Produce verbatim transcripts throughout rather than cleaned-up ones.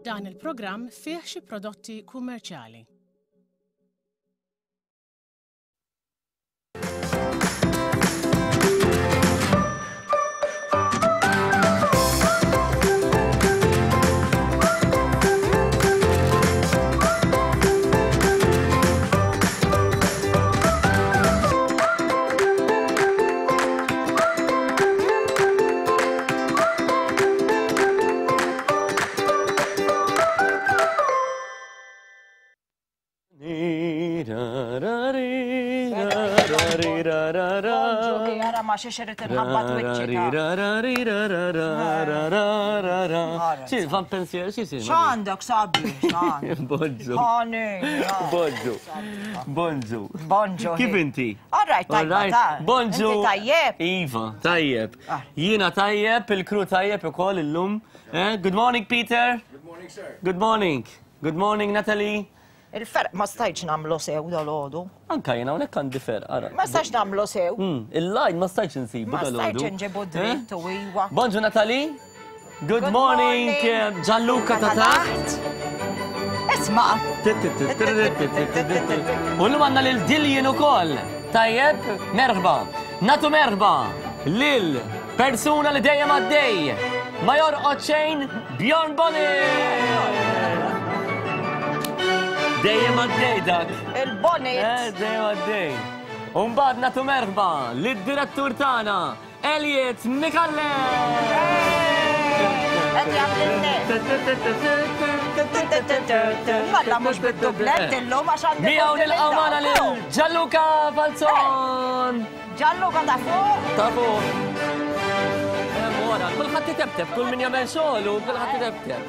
Dan il-programm fih xi prodotti kummerċjali. Ma xiex irrid inħabbat wiċċi. Xi fan pensier xi xi. X'għandek sabi? Bonġu. Bonġu. Bonġu. Bonġu. Kif inti? All right, tajba. Bonġu. Inti tajjeb? Iva, tajjeb. Jiena tajjeb, il-crew tajjeb ukoll illum. Good morning, Peter. Good morning, sir. Good morning. Good morning, Natalie. Il-ferq ma stajtx nagħmlu sew dal-għodu. Anka jiena hawnhekk għandi ferq, ara. Ma stajtx nagħmlu sew. Il-lajn ma stajtx insibu dal-għodu. Ma stajtx nġibu dritt u iwa. Bonġu Natalie. Good morning Gianluca ta' taħt. Isma'. U llum għandna lil Dillian ukoll. Tajjeb, merħba. Natu merħba lil persuna li dejjem għaddej. Ma jorqod xejn, Bjorn Bonnet. Dejjem għaddej dak. Il-bonnet. Eh, dejjem għaddej. Umbagħad nagħtu merħba lid-direttur tagħna, Elliot Micallef. Qed jagħmel Malla mhux bid-dublett illum għax għandi. Miegħu nilqgħu magħna lil Gianluca Falzon. Gianluca ta' fuq. Ta' fuq. Wara, kulħadd itebteb, kull min jagħmel xogħlu, kulħadd itebteb.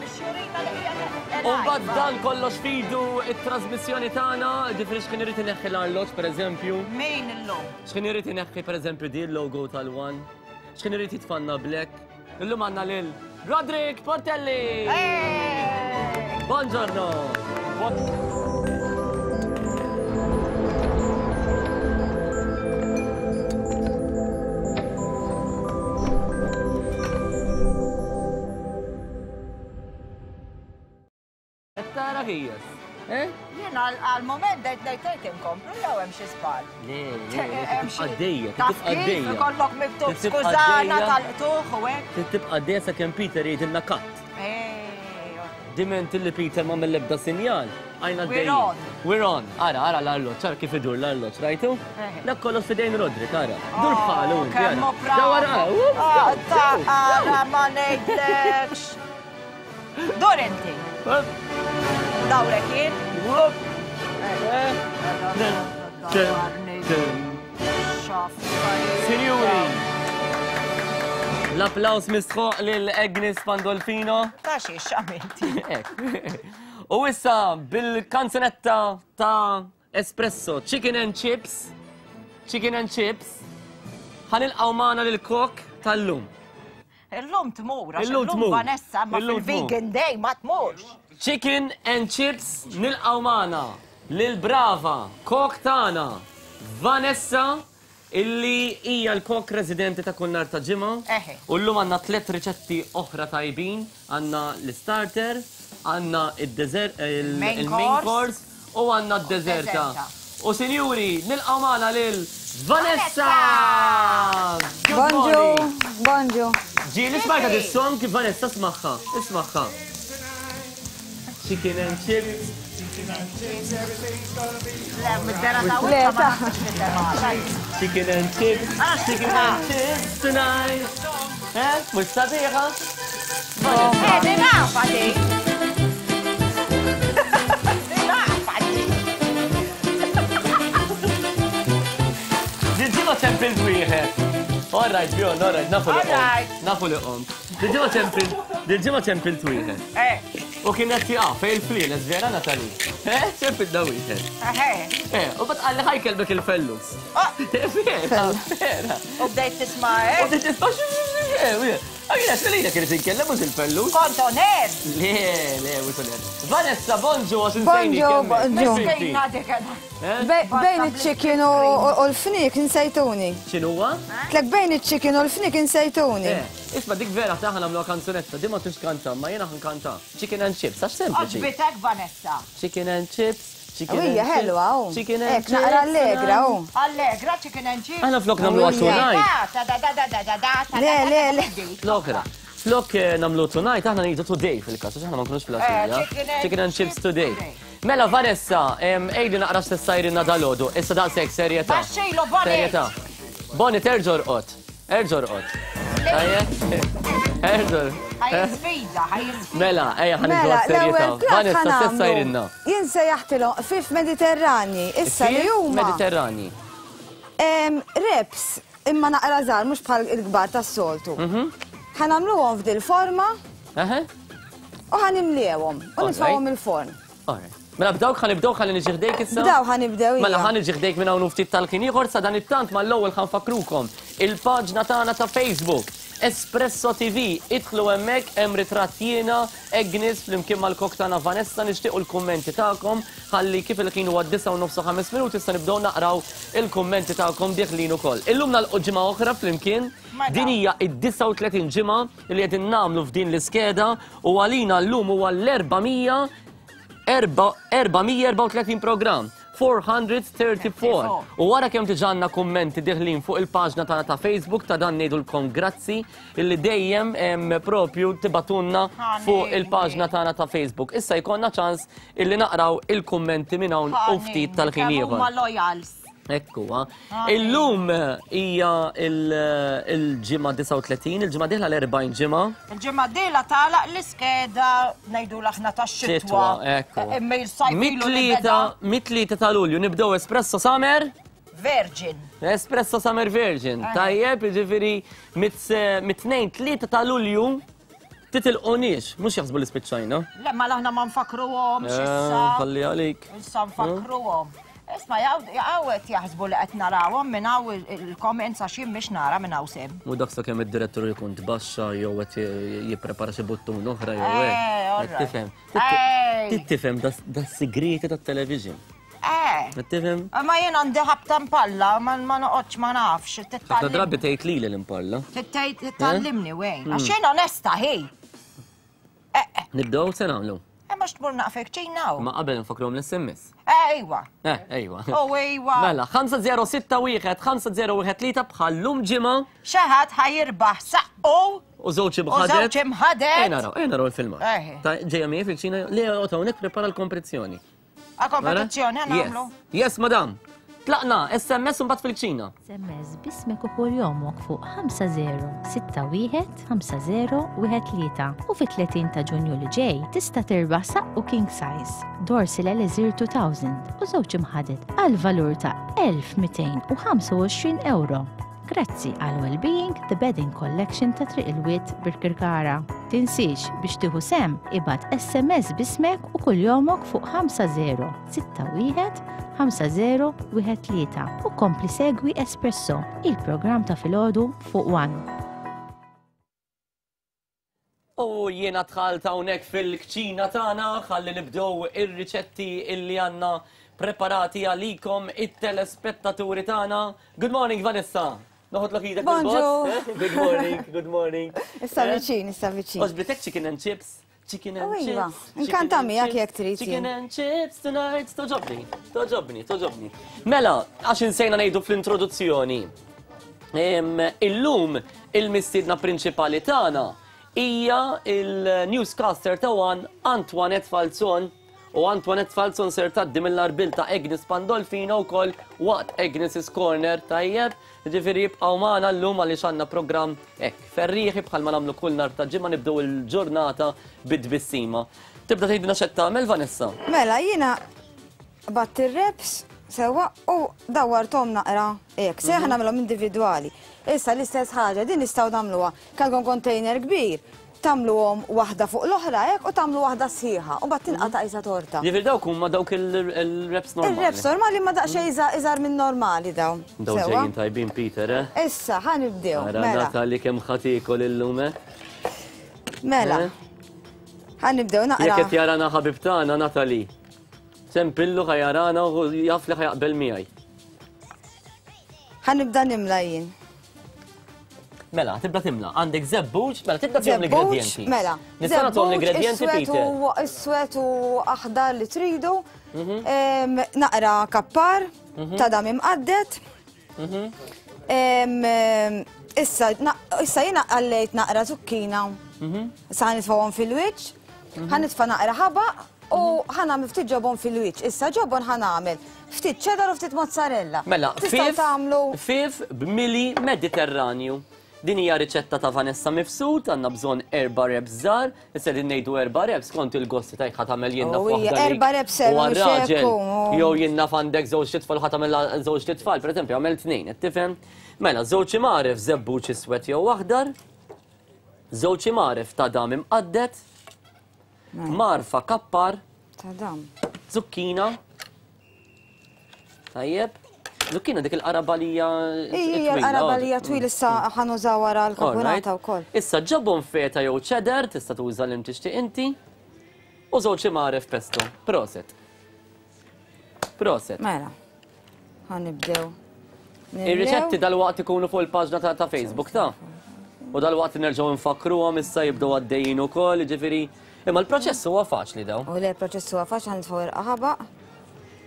Umbagħad dan kollox fidu it-trasmissjoni tagħna, ġifieri x'kien irid ineħħi l-arloġġ pereżempju. Min illum? X'kien irid ineħħi pereżempju di l-logo tal-One. X'kien irid jitfanna black. Illum għandna lil Roderick Portelli. Buongiorno. Tara ħijas. Eh? Jiena għal-moment dejt dejt inkomplu jew hemm xi żball. Le, le, għaddejja, tibqa' għaddejja. Ikollok miktub skużana tal-qtuħ u hekk. Tibqa' għaddejja sakemm Peter jgħidilna cut. Diment li Peter ma mill-ebda sinjal, għajna għaddejja. We're on. We're on. Ara, ara l-arloġġ, ara kif idur l-arloġġ, rajtu? Dak kollox f'idejn Roderick, ara. Dur bħalu inti, ara. Kemmu bravo. Ara ma ngħidlekx. Dur inti. Dawrek jien. Signori, l-applaus mistħoq lil Agnes Pandolfino. Ta' xiex għamilti. U issa bil-kanzunetta ta' Espresso, Chicken and Chips, Chicken and Chips, ħanilqgħu magħna lil kok tal-lum. Illum tmur, għax illum Vanessa ma fil-vegan day ma tmurx. Chicken and Chips nilqgħu magħna lil brava kok tagħna Vanessa illi hija l-kok residenti ta' kull nhar ta' ġimgħa. U llum għandna tliet riċetti oħra tajbin, għandna l-starter, għandna id-dessert, il-main course u għandna d-deżerta. U sinjuri, nilqgħu magħna lil Vanessa! Bonġu, bonġu. Ġieli smajta dis-song kif Vanessa smaħħa, ismaħħa. Chicken and chips. Chicken and chips. Chicken and chips tonight. Eh, mhux sabiħa? Eh, di nafa di. Di nafa di. Dil-ġimgħa ċempilt wieħed. All right, Bjorn, all right, nafu li qomt. Nafu li qomt. Dil-ġimgħa ċempilt, dil-ġimgħa ċempilt wieħed. Eh. U kien qed jaqa' fejn il-flieles vera Natalie. Eh, ċempilt da wieħed. Eh. Eh, u bat qalli ħajkelbek il-fellus. Vera, vera. U bdejt tisma' eh. U bdejt tisma' Għajna, x'għalina kienet inkellem mhux il-pellux. Kont oner. Le, le, mhux oner. Vanessa, bonġu, għax insejni. Bonġu, bonġu. Bejn iċ-chicken u l-fnik insejtuni. X'inhuwa? Tlek bejn iċ-chicken u l-fnik insejtuni. Isma' dik vera taħna nagħmluha kanzunetta, di ma tux kanta, ma jiena ħankanta. Chicken and chips, għax sempliċi. Għoġbitek, Vanessa. Chicken and chips. Ija, ħelwa, u. Ek, naqra allegra, u. Allegra, chicken and chips. Aħna flok namlu tonight. Le, le, le. Flokra. Flok namlu tonight, aħna ngħidu today fil-każ, għax aħna ma nkunux fil-għaxija. Chicken and chips today. Mela, Vanessa, ejdi naqra x'tessajrinna dal-għodu. Issa daqshekk serjetà. Baxxilu, Bonnie. Serjetà. Bonnie, terġa' orqod. Erġa' orqod. Erġa'. Ħaj sfida, ħaj sfida. Mela, ejja ħa nidħlu għas-serjetà. Vanessa, x'tessajrinna? Jien sejjaħtilhom ħfief Mediterrani, issa li huma. Mediterrani. Reps, imma naqra żgħar mhux bħal il-kbar tas-soltu. Ħa nagħmluhom f'dil forma. U ħa nimliewhom u nitfgħuhom il-forn. Mela bdawk ħa nibdew ħalli niġi ħdejk issa? Bdaw ħa nibdew. Mela ħa niġi ħdejk minn hawn ftit tal-ħin ieħor sa dan it-tant mal-ewwel ħa nfakrukom il-paġna tagħna ta' Facebook Espresso T V, idħlu hemmhekk hemm ritratt jiena Agnes flimkien mal-kok tagħna Vanessa, nixtiequ l-kummenti tagħkom ħalli kif il-ħin huwa disgħa u nofs u ħames minuti issa nibdew naqraw il-kummenti tagħkom dieħlin ukoll. Illum nagħlqu ġimgħa oħra flimkien, din hija id-disgħa u tletin ġimgħa li qegħdin nagħmlu f'din l-iskeda u għalina llum huwa l-erba' mija erba' mija erbgħa u tletin programm. four hundred thirty-four. U wara kemm diġà għandna kummenti diħlin fuq il-paġna tagħna ta' Facebook ta' dan ngħidulkom grazzi illi dejjem propju tibatunna fuq il-paġna tagħna ta' Facebook. Issa jkollna ċans illi naqraw il-kummenti minn hawn u ftit tal-ħin ieħor. Ekku, illum hija il-ġimgħa disgħa u tletin, il-ġimgħa dieħla l-erbgħin ġimgħa. Il-ġimgħa dieħla tagħlaq l-iskeda ngħidu aħna tax-xitwa. Ekku. Mit-tlieta ta' Lulju nibdew Espresso Summer Virgin. Espresso Summer Virgin. Tajjeb, jiġifieri mit-tnejn tlieta ta' Lulju titilqunix, mhux jaħsbu li spiċċajna. Le, ma aħna ma nfakruhomx issa. Ħalli għalik. Issa nfakruhom. Isma' jgħawet jaħsbu li qed narawhom minn hawn il-comments għax jien mhix nara minn hawn sem. Mhu dak sakemm id-direttur jkun tbaxxa jew qed jipprepara xi buttun oħra jew hekk. Tifhem. Tifhem das-sigriti tat-television. Eh. Tifhem? Ma jien għandi ħabta mpalla, ma noqgħodx ma nafx. Ħafna drabi tgħid lili l-impalla. Titgħallimni wejn. Għax jien onesta hi. Nibdew se nagħmlu. Ma xtmur naqfek ċina. Ma qabel nfakruhom l-S M S. Ejwa. Eh, ejwa. Oh, ejwa. Mela, ħamsa zero sitta wieħed, ħamsa zero wieħed tlieta bħallum ġimgħa. Xi ħadd ħajirbaħ saqqu. U żewġ imħadet. U żewġ imħadet. Ejja naraw, ejja naraw il-filmat. Ġejja miegħi fil-ċina, le joqgħod hawnhekk prepara l-kompetizzjoni. A kompetizzjoni nagħmlu. Yes, madam. Tlaqna, S M S u mbagħad fil-ċina. S M S bismek u kuljomok fuq ħamsa zero sitta wieħed ħamsa zero wieħed tlieta u fit-tletin ta' Ġunju li ġej tista' tirbaħ saqqu king size, Dorsil Elixir two thousand u żewġ imħadet għal valur ta' elf mitejn u ħamsa u għoxrin euro. Grazzi għal Wellbeing The Bedding Collection ta' Triq il-Wied Birkirkara. Tinsiex biex tieħu sem ibad S M S bismek u kuljomok fuq ħamsa zero sitta wieħed ħamsa zero wieħed tlieta u kompli segwi Espresso, il-programm ta' filgħodu fuq One. U jiena dħalt hawnhekk fil-kċina tagħna ħalli nibdew ir-riċetti illi għandna preparati għalikom it-telespettaturi tagħna. Good morning, Vanessa. Noħodlok idek il-boss. Good morning, good morning. Issa viċin, issa viċin. Oġbitek chicken and chips. Chicken and chips. Inkanta miegħek jekk trid. Chicken and chips tonight. Toġobni, toġobni, toġobni. Mela, għax insejna ngħidu fl-introduzzjoni. Illum il-mistiedna prinċipali tagħna hija il-newscaster ta' One Antoinette Falzon. U Antoinette Falzon ser tgħaddi mill-arbil ta' Agnes Pandolfino wkoll waqt Agnes's Corner tajjeb. Ġifieri jibqgħu magħna llum għaliex għandna programm hekk ferrieħi bħalma nagħmlu kull nhar ta' ġimgħa nibdew il-ġurnata bid-tbissima. Tibda tgħidilna x'qed tagħmel Vanessa? Mela jiena batt ir-reps sewwa u dawwarthom naqra hekk, se aħna nagħmilhom individwali. Issa l-istess ħaġa din nistgħu nagħmluha. Kellkom container kbir. Tagħmluhom waħda fuq l-oħra hekk u tagħmlu waħda sħiħa u mbagħad tinqata' qisha torta. Jiġifieri dawk huma dawk il-wraps normali. Il-wraps normali ma daqsxejn iżgħar minn normali dawn. Dawn ġejjin tajbin Peter, eh? Issa ħa nibdew. Mela. Natali kemm ħa tiekol illum, eh? Mela. Ħa nibdew naqra. Jekk qed jarana ħabib tagħna Natali. Sempillu ħa jarana u jaf li ħa jaqbel miegħi. Ħa nibda nimla jien. Mela, tibda timla. Għandek żebbuġ, mela tibda tihom l-ingredienti. Mela. Nista' nagħtuhom l-ingredienti Peter. Iswed u aħdar li tridu. Naqra kappar, ta' dam imqadded. Issa issa jiena għallejt naqra zucchina. Issa ħa nitfgħuhom fil-wiċċ. Ħa nitfa' naqra ħabaq u ħa nagħmel ftit ġobon fil-wiċċ. Issa ġobon ħa nagħmel ftit cheddar u ftit mozzarella. Mela, fif b'mili Mediterranju. Din hija riċetta ta' Vanessa Mifsud, għandna bżonn erba' wraps żgħar, issa din ngħidu erba' wraps kont il-gosti tajk ħa tagħmel jien naf waħda. Erba' wraps raġel. Jew jien naf għandek żewġ titfal ħa tagħmel żewġ titfal, pereżempju għamel tnejn, qed tifhem? Mela, żewġ imgħaref żebbuġ iswed jew aħdar, żewġ imgħaref ta' dam imqadded, marfa kappar, ta' dam, zucchina. Tajjeb. Zucchina dik il-qarabalija. Ija, l-qarabalija twil issa ħa nużaw wara l-kapunata wkoll. Issa ġobon feta jew cheddar, tista' tuża li tixtieq inti. U żewġ imgħaref pesto. Proset. Proset. Mela. Ħa nibdew. Ir-riċetti dalwaqt ikunu fuq il-paġna ta' Facebook ta'. U dalwaqt nerġgħu nfakruhom issa jibdew għaddejjin ukoll, jiġifieri. Imma l-proċess huwa faċli daw. U le, l-proċess huwa faċli ħa nitfgħu il-qaħabaq.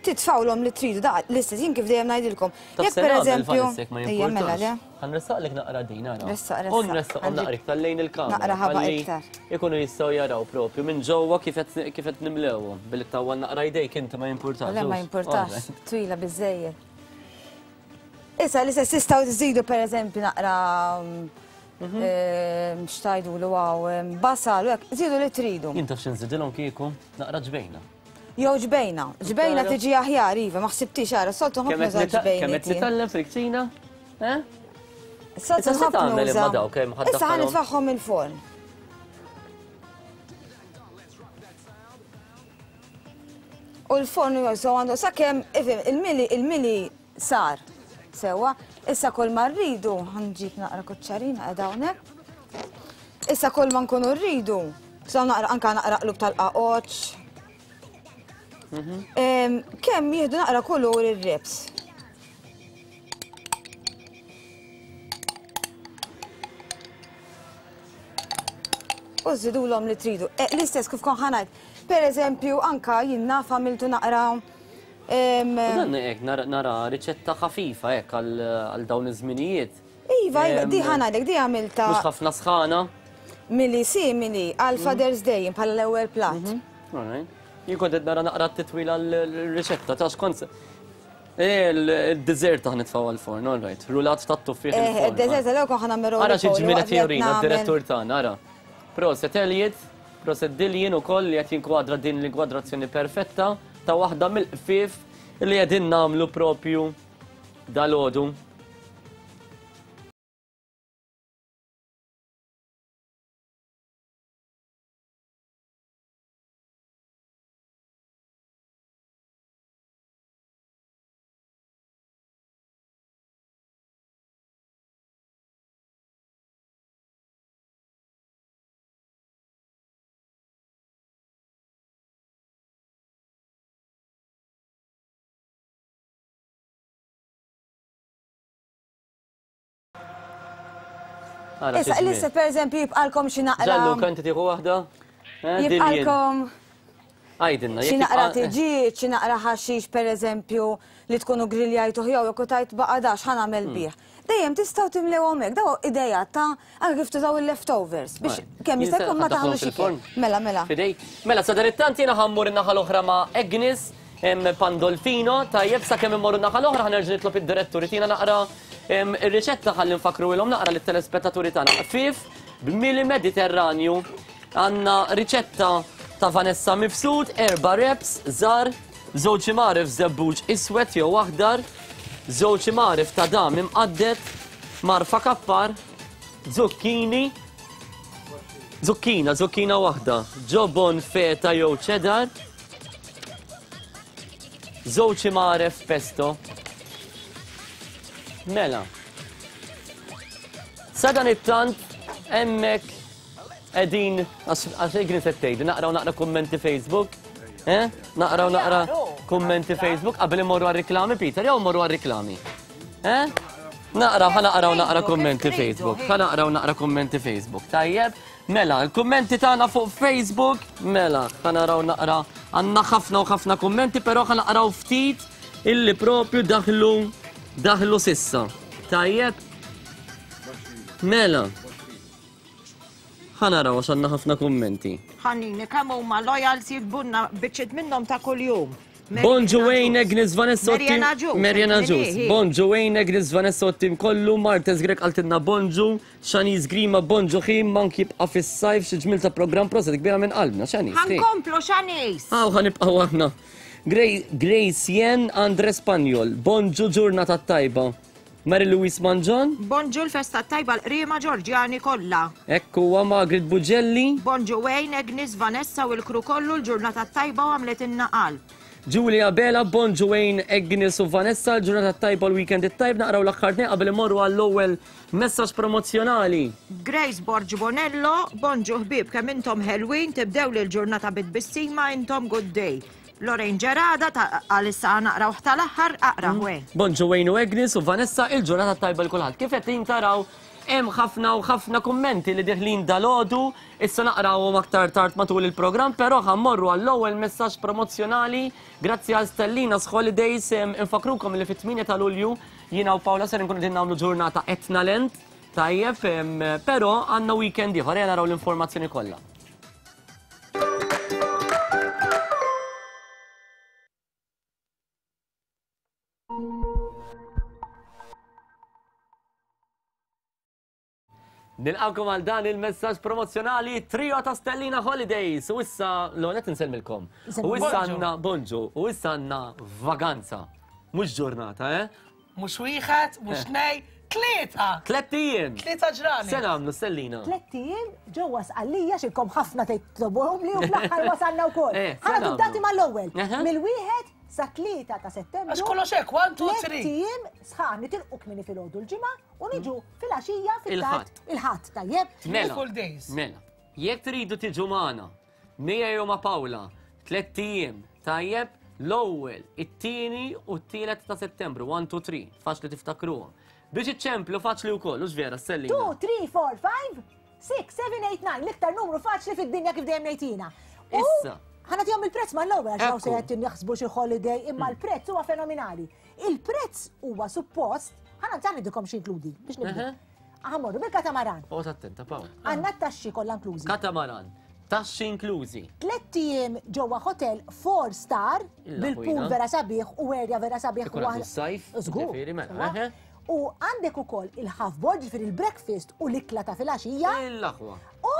Titfawlhom li tridu, da l-istess jien kif dejjem ngħidilkom. Jekk pereżempju, ejja mela le. Ħa nressaqlek naqra din ara. Ressaq, ressaq. U nressaq naqra iktar lejn il-kamera. Naqra ħabaq iktar. Ikunu jistgħu jaraw propju minn ġewwa kif qed nimlewhom. Billi tawwa naqra jdejk inti ma jimpurtax. Le ma jimpurtax, twila biżejjed. Issa l-istess tistgħu tżidu pereżempju naqra x'tajdulu hawn basal u hekk, żidu li tridu. Jien taf x'inżidilhom kieku naqra ġbejna. Jew ġbejna, ġbejna tiġi aħjar, iva, ma ħsibtix ara, soltu ħafna uża ġbejna. Kemm qed titgħallem fil-kċina? Eh? Soltu ħafna uża. Issa ħa nitfagħhom il-forn. U l-forn jew għandu sakemm il-mili il-mili sar. Sewwa, issa kull ma rridu, ħa nġib naqra kuċċarina qiegħda hawnhekk. Issa kull ma nkunu rridu, sa naqra anke naqra qlub tal-qaqoċ. Kemm jieħdu naqra kulur ir-wraps. U żidulhom li tridu. L-istess kif kon ħa ngħid. Pereżempju anka jien naf għamiltu naqra. Dan hekk nara riċetta ħafifa hekk għal dawn iż-żminijiet. Iva, iva, di ħa ngħidlek, di għamilta. Mhux ħafna sħana. Mili simili għal Father's Day bħala l-ewwel platt. All right. Jien kont qed nara naqra t-titwila l-riċetta ta' xkont. Il-dessert aħna nitfgħu għall-forn, all right. Rulat tat-tuffieħ il-forn. Id-dessert l-ewwel kont ħa nagħmel. Ara xi ġmiel qed jurina d-direttur tagħna, ara. Proset Elliot, proset Dillian ukoll li qed jinkwadra din l-inkwadrazzjoni perfetta ta' waħda mill-qfief li qegħdin nagħmlu propju dalgħodu. Issa, l-issa per eżempju jibqalkom xi naqra. Ġallu, inti tieħu waħda? Jibqalkom. Għajdilna. Xi naqra tiġiġ, xi naqra ħaxix per eżempju li tkunu grilljajtu jew jekk tajt baqa' dax ħa nagħmel bih. Dejjem tistgħu timlewhom hekk, daw idea ta' anke kif tużaw il-leftovers biex kemm jista' jkun ma taħlux ikel. Mela, mela. Mela, sadanittant jiena ħa mmur in-naħa l-oħra ma' Agnes Pandolfino, tajjeb sakemm immorru n-naħa l-oħra ħa nerġa' nitlob id-direttur tina naqra ir-riċetta ħalli nfakru ilhom naqra lit-telespettaturi tagħna. Qfief b'mili Mediterranju għandna riċetta ta' Vanessa Mifsud, erba' wraps żgħar, żewġ imgħaref żebbuġ iswed jew aħdar, żewġ imgħaref ta' dam imqadded, marfa kappar, zucchini, Zucchina, zucchina waħda. Ġobon feta jew cheddar. Żewġ imgħaref pesto. Mela. Sadan it-tant hemmhekk qegħdin għax Agnes qed tgħid, naqraw naqra kummenti Facebook. Eh? Naqraw naqra kummenti Facebook qabel imorru għar-riklami Peter, jew mmorru għar-riklami. Eh? Naqra, ħa naqraw naqra kummenti Facebook. Ħa naqraw naqra kummenti Facebook. Tajjeb, mela, il-kummenti tagħna fuq Facebook, mela, ħa naraw naqra għandna ħafna u ħafna kummenti, però ħa naqraw ftit illi propju daħlu daħlu sissa. Tajjeb. Mela. Ħa naraw għax għandna ħafna kummenti. Ħanini, kemm huma loyals jiktbulna biċċiet minnhom ta' kuljum. Bonġu Wayne, Agnes, Vanessa, Mariana Ġus. Mariana Ġus. Bonġu Wayne, Agnes, Vanessa, tim kollu, Martes Grek għaltinna bonġu, Shanice Grima, bonġu ħin, mank jibqa fis-sajf, xi ġmil ta' program proset kbira minn qalbna, Shanice. Ħankomplu Shanice. Aw, ħanibqgħu aħna. Grace Jen, Andre Spanjol, bonġu ġurnata tajba. Mary Louise Manġon. Bonġu l-festa tajba l-qrima Ġorġjani kollha. Ekku huwa Margaret Bugelli. Bonġu Wayne, Agnes, Vanessa u l-kru kollu l-ġurnata tajba u għamlet inna qalb. Julia Bela, bonġu Wayne, Agnes u Vanessa, l-ġurnata tajba l-weekend it-tajb, naqraw l-aħħar tnejn qabel imorru għall-ewwel messaġġ promozzjonali. Grace Borg Bonello, bonġu ħbieb kemm intom ħelwin, tibdew lil ġurnata bit-tbissima intom good day. Lorraine Gerada, għalissa naqraw tal-aħħar, aqra Wayne. Bonġu Wayne u Agnes u Vanessa, il-ġurnata tajba l-kulħadd. Kif qed taraw hemm ħafna u ħafna kummenti li deħlin dalodu, issa naqrawhom aktar tard matul il-programm, però ħa mmorru għall-ewwel messaġġ promozzjonali grazzi għal Stellina's Holidays. Infakrukom li fit-tmienja ta' Lulju jiena u Paola ser nkunu qegħdin nagħmlu ġurnata Etnalent, tajjeb, però għandna weekend ieħor, ejja naraw l-informazzjoni kollha. Nilqawkom għal dan il-messaġġ promozzjonali trio ta' Stellina Holidays. U issa, l-għonet nsellmilkom. U issa għandna, bonġu, u issa għandna vaganza. Mhux ġurnata, eh? Mhux wieħed, mhux tnej, tlieta. Tlett ijiem. Tlieta ġrani. Se nagħmlu Stellina. Tlett ijiem ġewwa Sqallija xilkom ħafna tgħidlobhom li u fl-aħħar wasalna wkoll. Ħa nagħtu dati mal-ewwel. Mill-wieħed sa tlieta ta' Settembru. Għax kollox hekk, one, two, three. Tlett ijiem sħaħ nitilqu kmieni filgħodu l-ġimgħa u niġu filgħaxija fit-tard il-Ħadd, tajjeb? Mela, Full days. Mela, jekk tridu tiġu magħna, Mija jew ma' Paola, tlett ijiem, tajjeb, l-ewwel, it-tieni u t-tielet ta' Settembru, one, two, three, faċli tiftakruhom. Biex iċċemplu faċli wkoll, hux vera, Stellina? two, three, four, five, six, seven, eight, nine, l-iktar numru faċli fid-dinja kif dejjem ngħidina. Issa. Ħa nagħtihom il-prezz mal-ewwel għax hawn se Ekku. qed jaħsbu xi holiday, imma l-prezz huwa fenomenali. Il-prezz huwa suppost, ħa ngħidilkom x'inkludi biex nibdu. Ħa mmorru bil-katamaran. Oqgħod attenta, Pawl. Għandna t-taxxi kollha inklużi. Katamaran, taxxi inklużi. Tlett ijiem ġewwa hotel four star Illa bil-pool ħwina. vera sabiħ u area vera sabiħ. Ikun għadu s-sajf, Żgur. ġifieri, mela, Sewwa. eħe. U għandek ukoll il-half board, ġifieri il-breakfast u l-ikla ta' filgħaxija. Il-aħwa. U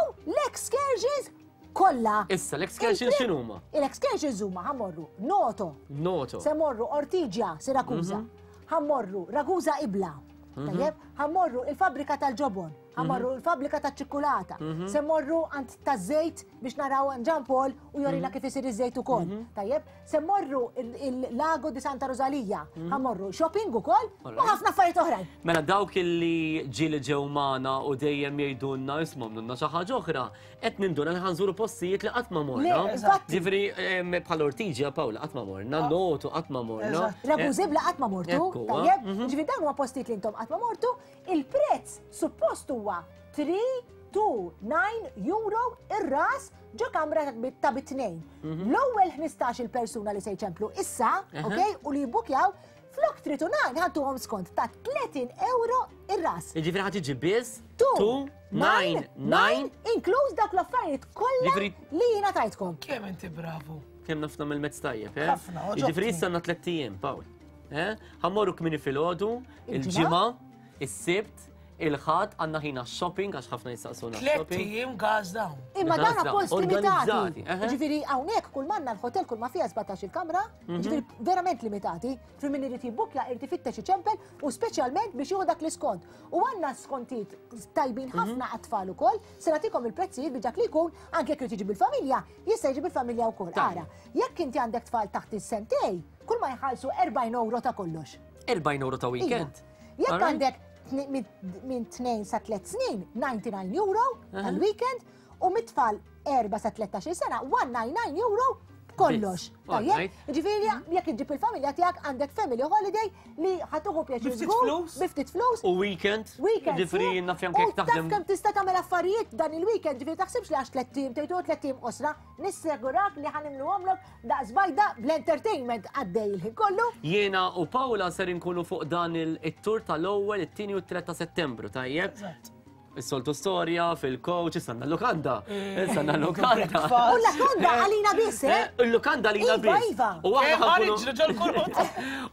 l-excursions kollha. Issa, l-excursions x'inhuma? Il-excursions huma ħa mmorru Noto. Noto. Se morru Ortigia, Siracusa. Mhm. Ħa mmorru Ragusa Ibla. Tajjeb, ħa mmorru il-fabbrika tal-ġobon, ħa mmorru il-fabbrika tal-ċikkulata, Mhm. se morru għand taż-żejt biex naraw għand Jean Paul u jorina Mhm. kif isir iż-żejt ukoll. Tajjeb, se morru il-Lago di Santa Rosalia, ħa mmorru shopping ukoll u Alright. ħafna affarijiet oħrajn. Mela dawk illi ġieli ġew magħna u dejjem jgħidulna isma' għamlulna xi ħaġa oħra, qed ninduna li ħa nżuru postijiet li qatt ma morna. Le, infatti. Ġifieri em, bħal Ortigia Paola qatt ma morna, Noto qatt ma morna. Eżatt. Ragusa Ibla qatt ma mortu, Ekku, tajjeb, mhm. ġifieri dawn huma postijiet li intom qatt ma mortu, il-prezz suppost huwa three, two, nine euro ir-ras ġo kamra ta' bi-, ta' bit-tnejn. L-ewwel ħmistax-il persuna li se jċemplu issa, Aha. ok, u li jibbukjaw, flok three to nine ħantuhom skont ta' tletin euro ir-ras. Jiġifieri ħa tiġi biss Two, two, nine, nine. inkluż dak l-affarijiet kollha Jiġifieri- li jiena tajtkom. Kemm inti bravu. Kemm nafna mill-mezz tajjeb, eh? Ħafna, oġobni. Jiġifieri issa għandna tlett ijiem, Pawl. Eh? Ħa mmorru kmieni filgħodu, Il-ġimgħa, il-ġimgħa, is-Sibt, il-Ħadd għandna ħina shopping għax ħafna jistaqsuna Tliet shopping. ijiem gas down. Imma dan appost limitati. Organizzati, eħe. Ġifieri hawnhekk kull manna l-hotel kull ma fiha sbatax il-kamra, ġifieri verament limitati. Ġifieri min irid jibbukja irid ifittex iċempel u speċjalment biex jieħu dak l-iskont. U għandna skontijiet tajbin ħafna għat-tfal ukoll, se nagħtikom il-prezzijiet biex dak li jkun anke jekk irid jiġi bil-familja, jista' jiġi bil-familja wkoll. Ara, jekk inti għandek tfal taħt is-sentej, kull ma jħallsu erbgħin euro ta' kollox. erbgħin euro ta' weekend. Jekk Alright. għandek tni-, minn tnejn sa tliet snin, disgħa u disgħin euro tal-weekend, u mit-tfal erba' sa tlettax-il sena, one nine nine euro kollox. Biss. Tajjeb? Alright. Ġifieri, jekk iġġib il-familja tiegħek għandek family holiday li ħa tieħu pjaċir Bi ftit żgur, flus. bi ftit flus. U weekend. Weekend. Ġifieri sieħ. naf janke U jekk taf taħdem. kemm tista' tagħmel affarijiet dan il-weekend, ġifieri taħsibx li għax tliet ijiem, tgħidu tliet ijiem qosra, nissegurak li ħa nimluhomlok daqs bajda bl-entertainment għaddej il-ħin kollu. Jiena u Paola ser inkunu fuq dan il-tur tal-ewwel, it-tieni u t-tliet ta' Settembru, tajjeb? Eżatt. Is-soltu storja fil-coach, issa għandna l-lukanda. Issa għandna l-lukanda. U l-lukanda għalina biss, eh? Il-lukanda għalina Iva, biss. iva. U aħna Eh, ħankunu ħa niġru ġol-kurut.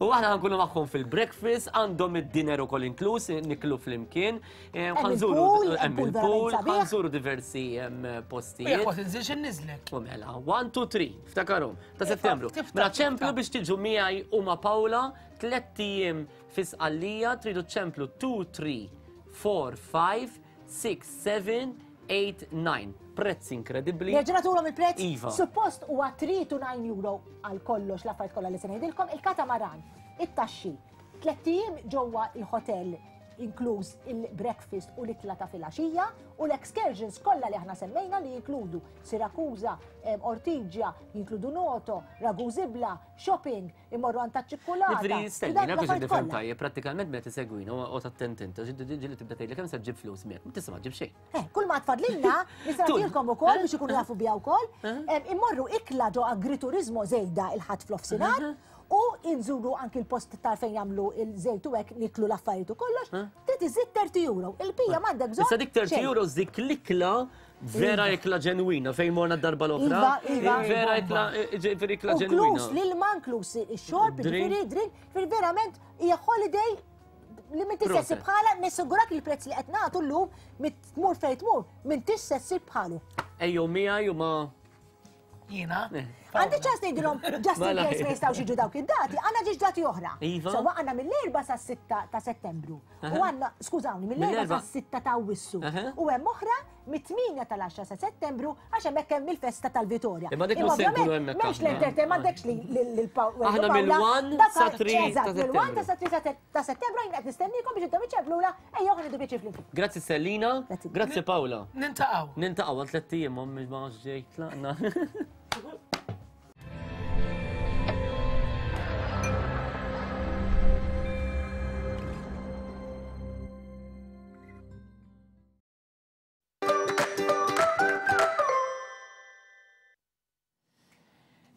U aħna ħankunu magħhom fil-breakfast, għandhom id-dinner ukoll inkluż, niklu flimkien. Eh, Hemm ħanżuru- il-pool, hemm hemm pool il-pool, verament sabiħ. ħanżuru diversi em, U jekk postijiet. ma tinżilx inniżlek. U mela, one, two, three, ftakarom, ta' Iva, Settembru. tiftakar, Mela ċemplu tiftakar. biex tiġu miegħi u ma' Paola, tlett ijiem fi Sqallija, tridu ċemplu two, three, four, five, six, seven, eight, nine. Prezz inkredibbli. Nerġa' nagħtuhom il-prezz? Iva. Suppost huwa three to nine euro għal kollox l-affarijiet kollha li se ngħidilkom, il-katamaran, it-taxxi, tlett ijiem ġewwa il-hotel inkluż il-breakfast u l-ikla ta' filgħaxija u l-excursions kollha li aħna semmejna li jinkludu Siracusa, em, Ortigia, jinkludu Noto, Ragusa Ibla, shopping, imorru għand taċ-ċikkulata. Ġifieri, stenni, Dak na biex l-affarijiet nifhem kollha. tajjeb, prattikament meta tisegwina u attent inta, ġieli tibda tgħidli kemm se ġġib flus miegħek, ma tista' ma ġġib xejn. Eh, kull ma tfadlilna, nista' Tul. nagħtilkom ukoll biex ikunu jafu biha wkoll, em, immorru ikla ġo agriturismo żejda il-Ħadd fl-offsinar u inżuru anki l-post ta' fejn jagħmlu il-żejt u hekk niklu l-affarijiet u kollox, trid iżid thirty euro. Il-pija m'għandek bżonn. Issa dik thirty xejn. euro dik l-ikla vera ikla ġenwina fejn morna d-darba l-oħra. Iva, iva. Vera ikla, ġifieri ikla U ġenwina. Inkluż l-ilma, inkluż ix-xorb, Drink. ġifieri drink, ġifieri verament hija holiday li minn tista' Proset. ssib bħala, nissigurak li l-prezz li qed nagħtu llum mit tmur fejn tmur, minn tista' ssib bħalu. Ejjew miegħi u ma' Jiena. Għandi ċans ngħidilhom just in Mela. case ma jistgħux jiġu dawk id-dati, għandna ġiex dati oħra. Iva. Sewwa għandna mill-erba' sa sitta ta' Settembru. U għandna, skużawni, mill-erba' Mill-erba'. sa sitta ta' Awwissu. Aha. U hemm oħra mit-tmienja tal-għaxra sa Settembru għax hemmhekk hemm il-festa tal-Vitorja. Imma dik mhux se nkunu hemmhekk M'hemmx aħna. l-entertainment, m'għandekx li l-Paw- Aħna Paola. mill-one Dak sa three ta' Eżatt, mill-one Settembru. sa three ta' Settembru jien qed nistennikom biex intom iċċemplula, ejjew ħa nieħdu pjaċir flimkien. Grazzi Selina, Grazzi. grazzi Paola. Nintaqgħu. Nintaqgħu għal tlett ijiem, ommi ma ġej tlaqna.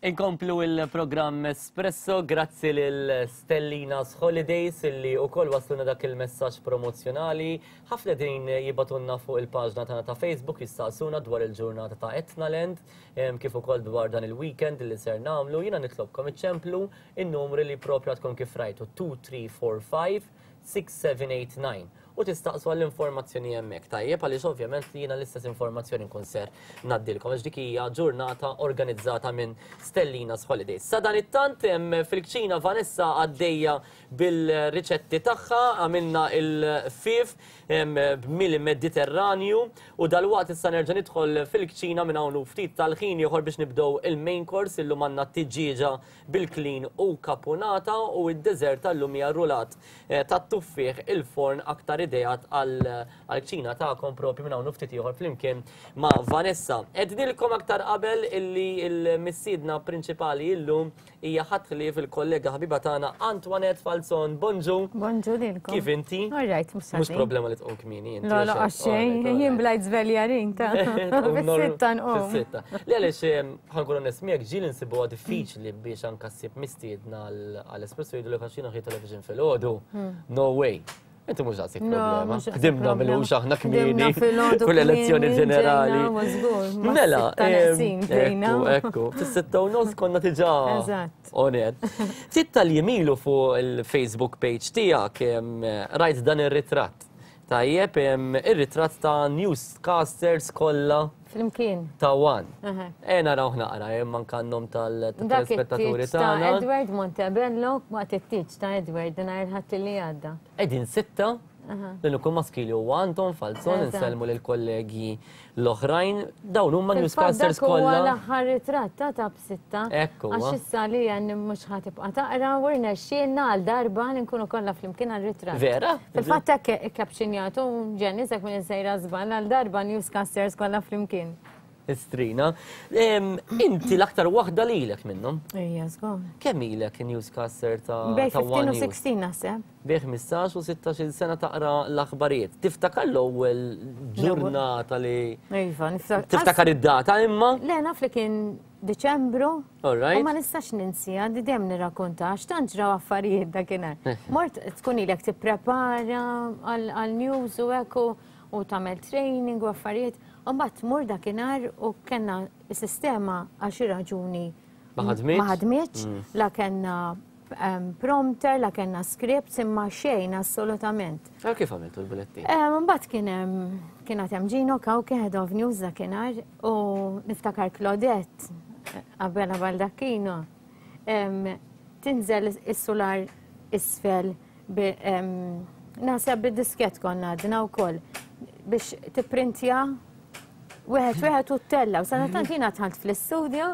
Inkomplu il-programm Espresso, grazzi lil Stellina's Holidays illi u koll wasluna dak il-messaġġ promozjonali. Ħafna din jibatunna fuq il-paġna tagħna ta' Facebook jistaqsuna dwar il-ġurnata ta' Etnaland, em, kif ukoll dwar dan il-weekend li ser nagħmlu. Jiena nitlobkom iċċemplu in-numri li propju għadkom kif rajtu two three four five six seven eight nine u tistaqsu għall-informazzjoni hemmhekk. Tajjeb, għaliex ovvjament li jiena l-istess informazzjoni nkun ser ngħaddilkom għax dik hija ġurnata organizzata minn Stellina's Holidays. Sa dan it-tant hemm fil-kċina Vanessa għaddejja bil-riċetti tagħha, għamilna il-fif b'mili Mediterranju u dalwaqt issa nerġa' nidħol fil-kċina minn hawn u ftit tal-ħin ieħor biex nibdew il-main course illum għandna tiġieġa bil-klin u kapunata u d-dessert tal-lum hija rulat, eh, tat-tuffieħ il-forn aktar ideat għal-kċina tagħkom propju minn hawn u ftit ieħor flimkien ma' Vanessa. Ednilkom aktar qabel illi il-missiedna prinċipali illum hija ħadd fil-kollega ħabiba tagħna Antoinette Falzon. Bonġu. Bonġu lilkom. Kif inti? All right, mhux Mhux ħażin. problema li tqum kmieni inti. La, la, għaxxejn, jien blajt żveljarin ta' fis-sitta nqum. Fis-sitta. Li għaliex ħa nkun onest miegħek ġieli nsibuha diffiċli biex anka ssib mistiedna għall-espresso jgħidu li għax jiena television filgħodu. No way. Inti mhux daqshekk No, problema. mhux daqshekk Ħdimna problema. milux aħna kmieni Ħdimna filgħodu kull elezzjoni kmieni, ġenerali. ġejna, ma żgur, ma Mela, sitta neqsin em, bdejna. ekku, ekku, fis-sitta u nofs konna diġà Eżatt. on air. Ftit tal-jiem ilu fuq il-Facebook page tiegħek, em, rajt dan ir-ritratt. Tajjeb, ir-ritratt ta' newscasters kollha Flimkien. Ta' One. E naraw naqra, hemm anke n-nom tal-telespettaturi tagħna. Ta' Edward Montebello waqt it-tieġ ta' Edward nhar il-Ħadd li għadda. Qegħdin sitta, l-uniku maskili huwa Anton Falzon, insellmu lill-kollegi l-oħrajn, dawn huma newscasters kollha. Huwa l-aħħar ritratt ta' ta' b'sitta. Ekku. Għax issa li għan mhux ħa tibqa' taqra u rnexxielna għal darba li nkunu kollha flimkien għal ritratt. Vera? Fil-fatt hekk ikkapxinjatu Ġenis hekk minn sejra żball għal darba newscasters kollha flimkien. Istrina. Inti l-aktar waħda lilek minnhom. Ejja, żgur. Kemm ilek newscaster ta' Bej ħmistax u sittax naħseb. Bej ħmistax u sittax-il sena taqra l-aħbarijiet. Tiftakar l-ewwel ġurnata li. Iva, niftakar. Tiftakar id-data imma? Le, naf li kien Diċembru. All right. U ma nistax ninsija, di dejjem nirrakkonta għax tant ġraw affarijiet dakinhar. Mort tkun ilek tipprepara għal news u hekk u tagħmel training u affarijiet. U mbagħad tmur dakinhar u kellna s-sistema għal xi raġuni ma ħadmitx. Ma ħadmitx, la kellna prompter, la kellna scripts, imma xejn assolutament. Għal kif għamiltu l-bulettin? Mbagħad kien hemm kien għad hemm Gino Cauchi, head of news dakinhar, u niftakar Claudette qabel Baldacchino tinżel is-sular isfel naħseb bid-diskett konna għadna wkoll biex tipprintja wieħed wieħed u ttella. U sadattant jiena dħalt fl-istudio,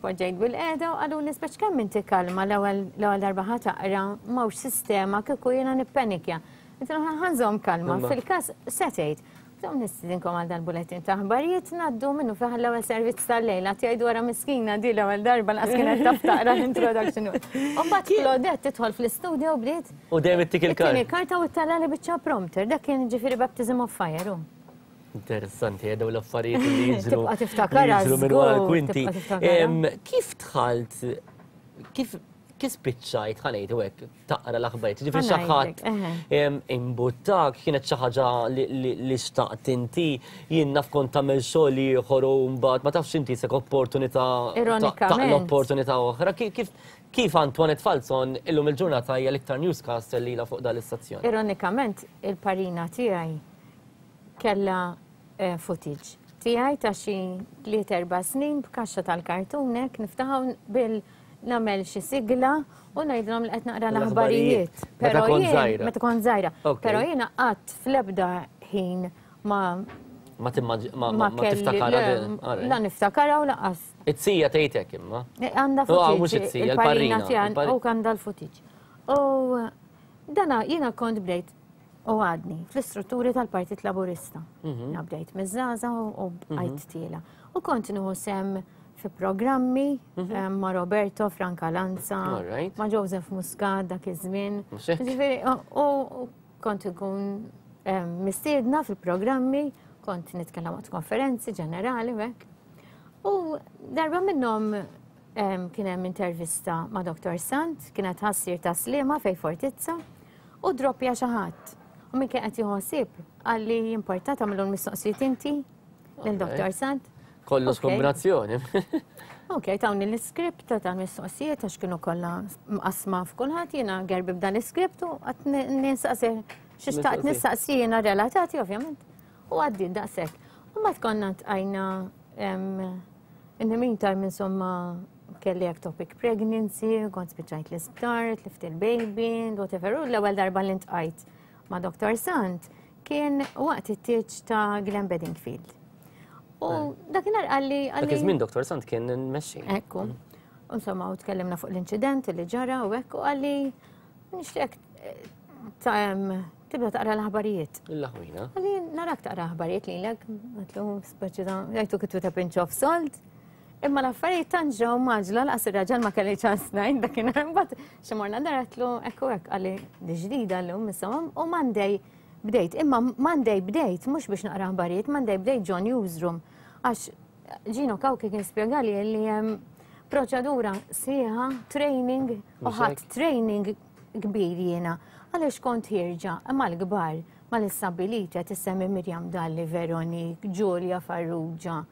poġġejt bil-qiegħda u qalu nispeċ kemm inti kalma l-ewwel darba ħa taqra m'hawnx sistema kieku jiena nippenikja. Inti ħa nżomm kalma, fil-każ se tgħid. Dawn nistidinkom għal dal-bulettin ta' aħbarijiet ngħaddu minnu fih l-ewwel servizz tal-lejla tgħidu wara miskina di l-ewwel darba laqas kienet taf taqra l-introduction. U mbagħad Claudette tidħol fl-istudio u bdiet. U dejjem ittik il-karta. Ittini karta u ttella li biċċa prompter, dak kien ġifieri baptism of fire. Interessanti, dawn l-affarijiet li jiġru. Tibqa' tiftakarha. Jiġru minn wara l-kwinti. Kif dħalt, kif kif spiċċajt ħa ngħidu hekk taqra l-aħbarijiet? Ġifieri xi ħadd imbuttak, kienet xi ħaġa li xtaqt inti, jien naf kont tagħmel xogħol ieħor u mbagħad ma tafx inti sek opportunità Ironikament. L-opportunità oħra. Kif kif Antoinette Falzon illum il-ġurnata hija l-iktar newscaster li ilha fuq dan l-istazzjon? Ironikament, il-parina tiegħi kellha footage tiegħi ta' xi tliet erba' snin b'kaxxa tal-kartunek niftaħu bil nagħmel xi sigla u ngħidilhom li qed naqra l-aħbarijiet. Meta kont żgħira. Meta kont żgħira. Però jiena qatt fl-ebda ħin ma ma ma tiftakara. La niftakara u laqas. It-sija tgħidek imma. Għandha footage. Il-parina tiegħi u għandha l-footage. U dana jiena kont bdejt u għadni fl-istrutturi tal-Partit Laburista. Jiena bdejt miż-żgħażagħ u bqajt tiela. U kont nieħu sem fi programmi ma' Roberto Franca Lanza, ma' Joseph Muscat dak iż-żmien. Ġifieri, u kont ikun mistiedna fil-programmi, kont nitkellem waqt konferenzi ġenerali u hekk. U darba minnhom kien hemm intervista ma' Doktor Sant, kienet ħassir ta' Sliema fej Fortizza, u droppja xi ħadd. U min kien qed jieħu ħsieb qalli jimporta tagħmlu l-mistoqsijiet inti lil Doktor Sant. Kollox kombinazzjoni. Ok, tawni l-iskript ta' mistoqsijiet għax kienu kollha mqasma f'kulħadd, jiena gerbi b'dan l-iskript u qatt nistaqsi xi xtaqt nistaqsi jiena relatati ovvjament. U għaddiet daqshekk. U mbagħad konna tqajna in the meantime insomma kelli ectopic pregnancy, kont spiċċajt l-isptar, tlift il-baby, whatever. U l-ewwel darba li ntqajt ma' Doktor Sant kien waqt it-tieġ ta' Glenn Bedingfield. U dakinhar qalli. Dak iż-żmien Doktor Sant kien mmexxi. Ekku. Insomma, u tkellimna fuq l-inċident li ġara u hekk u qalli nixtieq tibda taqra l-aħbarijiet. Il-laħwina. Qalli narak taqra aħbarijiet lilek, għatlu speċi ta' jgħidu kittu ta' pinch of salt. Imma l-affarijiet tant ġew maġla laqas ir-raġel ma kelli ċans ngħid dakinhar imbagħad xi morna dar għatlu hekk u hekk qalli di ġdida llum insomma u Monday bdejt, imma Monday bdejt mhux biex naqra aħbarijiet, Monday bdejt ġo newsroom. Għax Gino Cauchi kien spjegali li hemm proċedura sieħa, training, u ħadd training kbir jiena. Għaliex kont ħierġa mal-kbar, mal-istabiliti qed issemmi Mirjam Dalli, Veronique, Giulia Farrugia,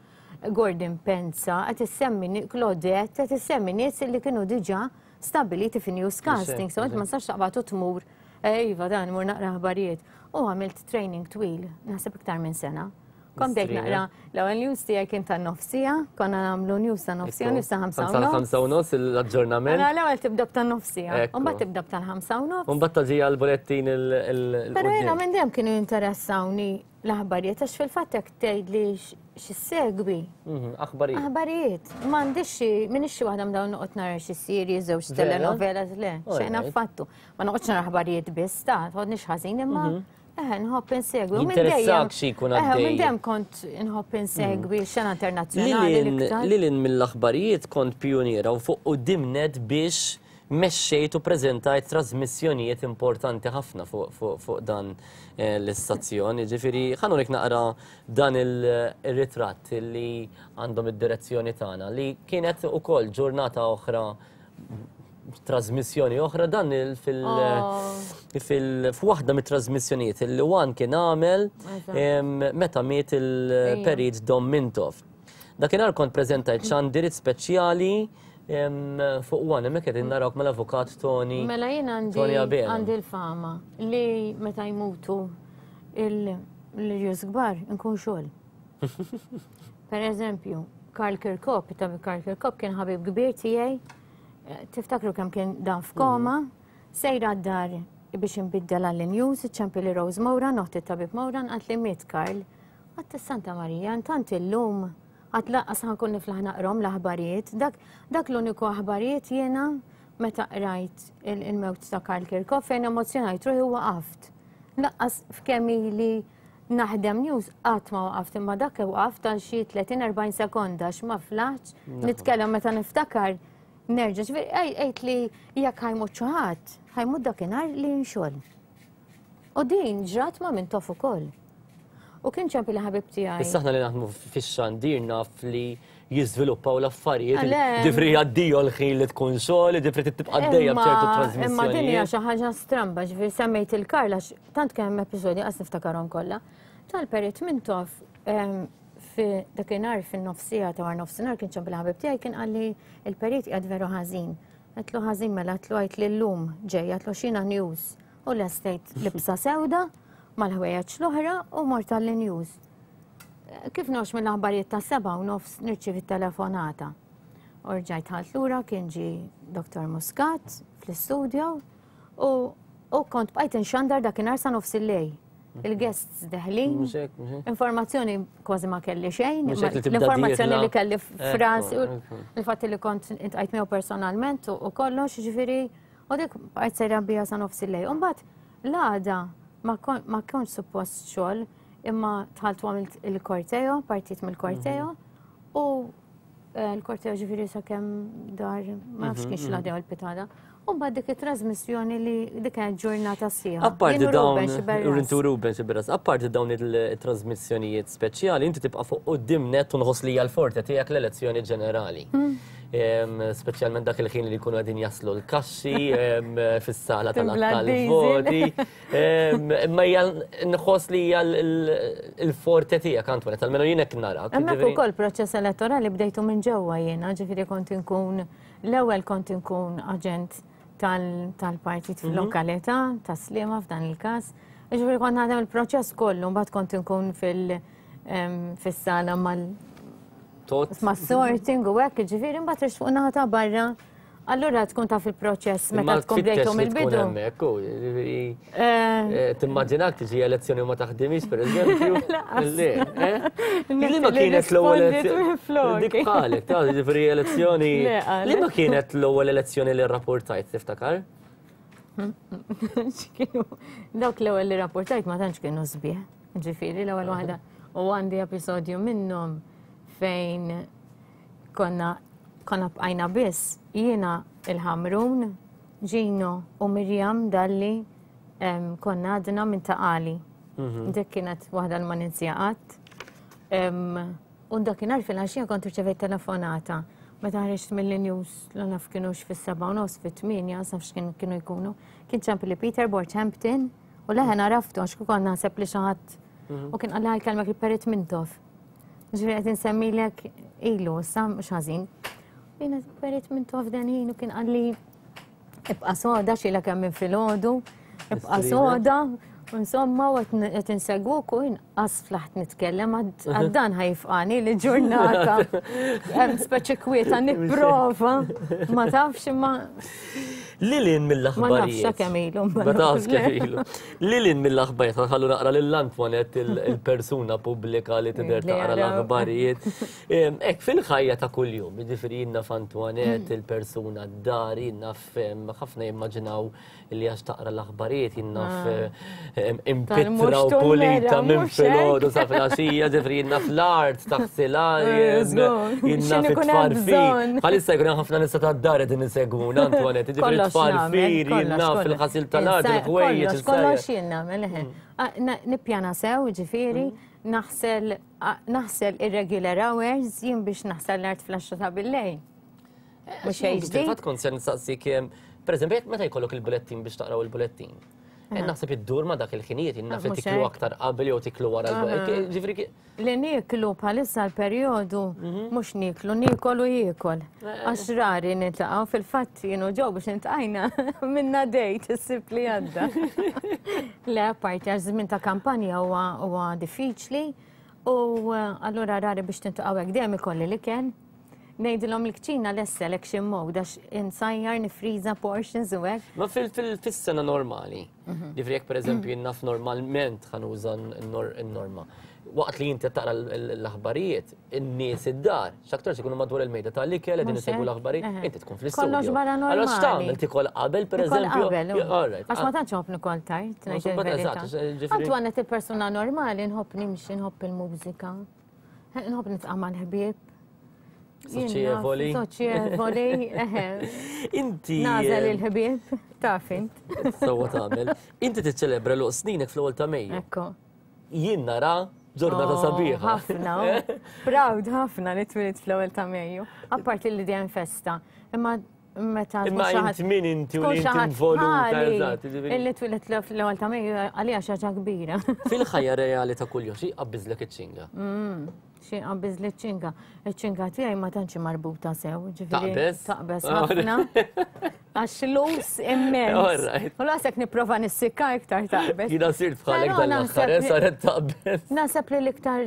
Gordon Penza, qed issemmi Claudette, qed issemmi nies li kienu diġà stabiliti fi newscasting, so ma nistax taqbad u tmur Iva, dan, mur naqra aħbarijiet. U għamilt training twil, naħseb iktar minn sena. Kont bdejt naqra, l-ewwel news tiegħi kien ta' nofsija, konna nagħmlu news ta' nofsija, news ta' ħamsa u nofs. Ħamsa u nofs l-aġġornament. Mela l-ewwel tibda ta' nofsija, u mbagħad tibda tal-ħamsa u nofs. U mbagħad taġi għall-bulettin il. Però jiena minn dejjem kienu jinteressawni l-aħbarijiet, għax fil-fatt jekk tgħidli x'issegwi. Aħbarijiet. Aħbarijiet. M'għandix xi, m'iniex xi waħda minn dawn noqgħod nara xi series jew xi telenovelas, le, xejn affattu. Ma noqgħodx nara aħbarijiet biss, ta' tħoddniex ħażin imma eħe, nħobb insegwi. Jinteressak xi jkun għaddej. Minn dejjem kont nħobb insegwi xena internazzjonali l-iktar. Lilin mill-aħbarijiet kont pijuniera u fuq quddiem net biex mexxejt u preżentajt trasmissjonijiet importanti ħafna fuq dan l-istazzjon. Ġifieri ħa nurik naqra dan il-ritratt li għandhom id-direzzjoni tagħna li kienet ukoll ġurnata oħra, trasmissjoni oħra, dan fil-waħda mit-trasmissjonijiet li One kien għamel meta miet il-perit Dom Mintoff. Dakinhar kont preżentajt xandirit speċjali fuq One, hemmhekk qegħdin narawk mal-avukat Tony. Mela jien għandi l-fama li meta jmutu l-irjus kbar nkun xogħol. Per eżempju, Karl Kirkop, Karl Kirkop kien ħabib kbir tiegħi. Tiftakru kemm kien dan f'koma, sejra d-dar biex inbiddel għall-news, iċċempi li Rose Moran, noħti tabib Moran, għat li miet Karl. Għat Santa Marija, intant illum, għat laqqas ħankun niflaħ naqrom l-aħbarijiet. Dak l-uniku aħbarijiet jiena meta qrajt il-mewt ta' Karl Kirkop fejn emozjonajt ruħi u waqaft. Laqqas f'kemm ili naħdem news qatt ma waqaft, imma dak waqaft għal xi tletin erbgħin sekonda għax ma flaħx nitkellem meta niftakar. Nerġa', ġifieri għejt li jekk ħajmut xi ħadd, ħajmut dakinhar li nxogħol. U din ġrat ma' Mintoff ukoll. U kien ċempi li ħabib tiegħi. Issa aħna li naħdmu fix-xandir naf li jiżviluppaw l-affarijiet. Ġifri għaddiju l-ħin li tkun xogħol, ġifri tibqa' għaddejja b'ċertu trasmissjonijiet. Imma din hija xi ħaġa stramba, ġifieri semmejt il-Karl għax tant kemm hemm episodji qas niftakarhom kollha. Tal-perit Mintoff dakinhar fin-nofsija ta' war nofsinhar kien ċempi ħabib tiegħi kien qalli il-perit qiegħed veru ħażin. Għedtlu ħażin mela għedtlu għajt li llum ġej, għedtlu xina news. U lestejt libsa sewda mal-ħwejjeġ l-oħra u mort għall-news. Kif nox mill-aħbarijiet ta' seba' u nofs nirċievi telefonata. U rġajt ħalt lura kien ġie Doktor Muscat fl-istudio u kont bqajt inxandar dakinhar sa nofs il-lejl. Il-guests deħlin, informazzjoni kważi ma kelli xejn, l-informazzjoni li kelli f'rasi, il-fatt li kont intqajt miegħu personalment u kollox, ġifieri, u dik bqajt sejra bija sa nofs il-lejl. U mbagħad l-għada ma kontx suppost xogħol, imma dħalt u għamilt il-korteo, partit mill-korteo, u l-korteo ġifieri sakemm dar, ma nafx kienx l-għada u l-pitada. U mbagħad dik it-trasmissjoni li dik kienet ġurnata sieħa. Apparti dawn, Rintu Ruben Xiberras, apparti dawn il-trasmissjonijiet speċjali, inti tibqa' fuq quddiem net u nħoss li hija l-forte tiegħek l-elezzjoni ġenerali. Speċjalment dak il-ħin li jkunu qegħdin jaslu l-kaxxi fis-sala tal-voti. Imma hija nħoss li hija l-forte tiegħek, Antoinette, almenu jien hekk narak. Hemmhekk ukoll proċess elettorali bdejtu minn ġewwa jiena, ġifieri kont inkun l-ewwel kont inkun aġent tal-partit fil-lokalità, ta' Sliema f'dan il-każ. Ġifieri kont naħdem il-proċess kollu, mbagħad kont inkun fis-sala mal sorting u hekk, ġifieri mbagħad rix fuq naħa ta' barra. Allura tkun taf il-proċess meta tkun bdejtu mill-bidu. Timmaġinak tiġi elezzjoni u ma taħdimix, per eżempju? Le, li ma kienet l-ewwel elezzjoni. Dik bħalek, ta' ġifieri elezzjoni. Li ma kienet l-ewwel elezzjoni li rrapportajt, tiftakar? Dawk l-ewwel li rrapportajt ma tantx kienu sbieħ. Ġifieri l-ewwel waħda. U għandi episodju minnhom fejn konna konna bqajna biss jiena il-Ħamrun, Gino u Mirjam Dalli konna għadna minn Taqali. Dik kienet waħda li ma ninsija qatt. U dakinhar fil-għaxija kont irċevejt telefonata. Meta ħriġt mill-news, la naf kienux fis-seba' u nofs, fit-tmienja, naf x'kienu kienu jkunu. Kien ċempel li Peter Borthampton u leħen għaraftu għax kont naħseb li xi ħadd u kien qalli ħajkellmek il-Perit Mintoff. Ġifieri qed insemmilek ilu, issa mhux ħażin. Jiena Perit Mintoff dan ħin u kien qalli ibqa' soda xilha kemm minn filgħodu. Ibqa' soda. Insomma, u qed insegwuk u inqas flaħt nitkellem għad dan ħajfqani li ġurnata. Hemm speċi kwieta nipprova. Ma tafx imma. Lilin mill-aħbarijiet. Ma nafx kemm ilu. Ma tafx kemm ilu. Lilin mill-aħbarijiet, ħallu naqra lil Antoinette il-persuna pubblika li tidher taqra l-aħbarijiet. Hekk fil-ħajja ta' kuljum, jiġifieri jiena f'Antoinette il-persuna d-dar, jiena ħafna jimmaġinaw li għax taqra l-aħbarijiet, jiena impitra u pulita minn filgħodu sa filgħaxija, ġifieri jiena fl-art taħsilha, jiena fit-tfarfir. Bħalissa jkun hemm ħafna nisa tad-dar qegħdin isegwuna Antoinette, jiġifieri tfarfir, jiena fil-ħasil tal-art, il-ħwejjeġ. Kollox jien nagħmel, eħe. Nippjana sew, ġifieri, naħsel naħsel irregular hours, jien biex naħsel l-art fl-għaxra ta' billejl. Mhux xejn ġdid. Fil-fatt kont se nistaqsik, pereżempju, meta jkollok il-bulettin biex taqraw il-bulettin. Naħseb iddur ma dak il-ħinijiet, jien naf li tiklu aktar qabel jew tiklu wara l-bulettin. Ġifieri li nieklu bħalissa l-perjodu mhux nieklu, niekol u jiekol. Għax rari niltaqgħu, fil-fatt jien u ġew biex niltqajna minna dejt is-sibt li għadda. Le, apparti għax żmien ta' kampanja huwa diffiċli u allura rari biex tintlaqgħu hekk dejjem ikolli l-ikel. Ngħidilhom il-kċina lesta lek xi mod għax insajjar nifriża portions u hekk. Ma fis-sena normali, ġifieri jekk pereżempju jien naf normalment ħa nuża n-norma. Waqt li inti taqra l-aħbarijiet, in-nies id-dar, x'aktarx ikunu madwar il-mejda tal-ikel qegħdin isegwu l-aħbarijiet, inti tkun fl-istudio. Kollox barra normali. Allura x'tagħmel tikol qabel pereżempju? Għax ma tantx nħobb nikol tard, ngħid il-verità. Antoinette il-persuna normali nħobb nimxi, nħobb il-mużika, nħobb nitqa' mal-ħbieb. Soċjevoli. Soċjevoli, eħe. Inti. Nażel il-ħbieb, taf int. Sewwa tagħmel. Inti tiċċelebra l sninek fl-ewwel ta' Mejju. Ekku. Jien nara ġurnata sabiħa. Ħafna. Proud ħafna li twilit fl-ewwel ta' Mejju. Apparti li dejjem festa. Imma meta Imma int min inti u li inti involuta, eżatt. Illi twilit fl-ewwel ta' Mejju għalija xi ħaġa kbira. Fil-ħajja reali ta' kuljum xi jqabbiżlek iċ-ċinga? Xi jqabbiż li ċ-ċinga. Iċ-ċinga tiegħi ma tantx marbuta sew, ġifieri. Taqbeż? Taqbeż ħafna. Għax lus immens. U lasek nipprova nissikka iktar taqbeż. Jiena sirt bħalek dan l-aħħar, saret taqbeż. Naħseb li l-iktar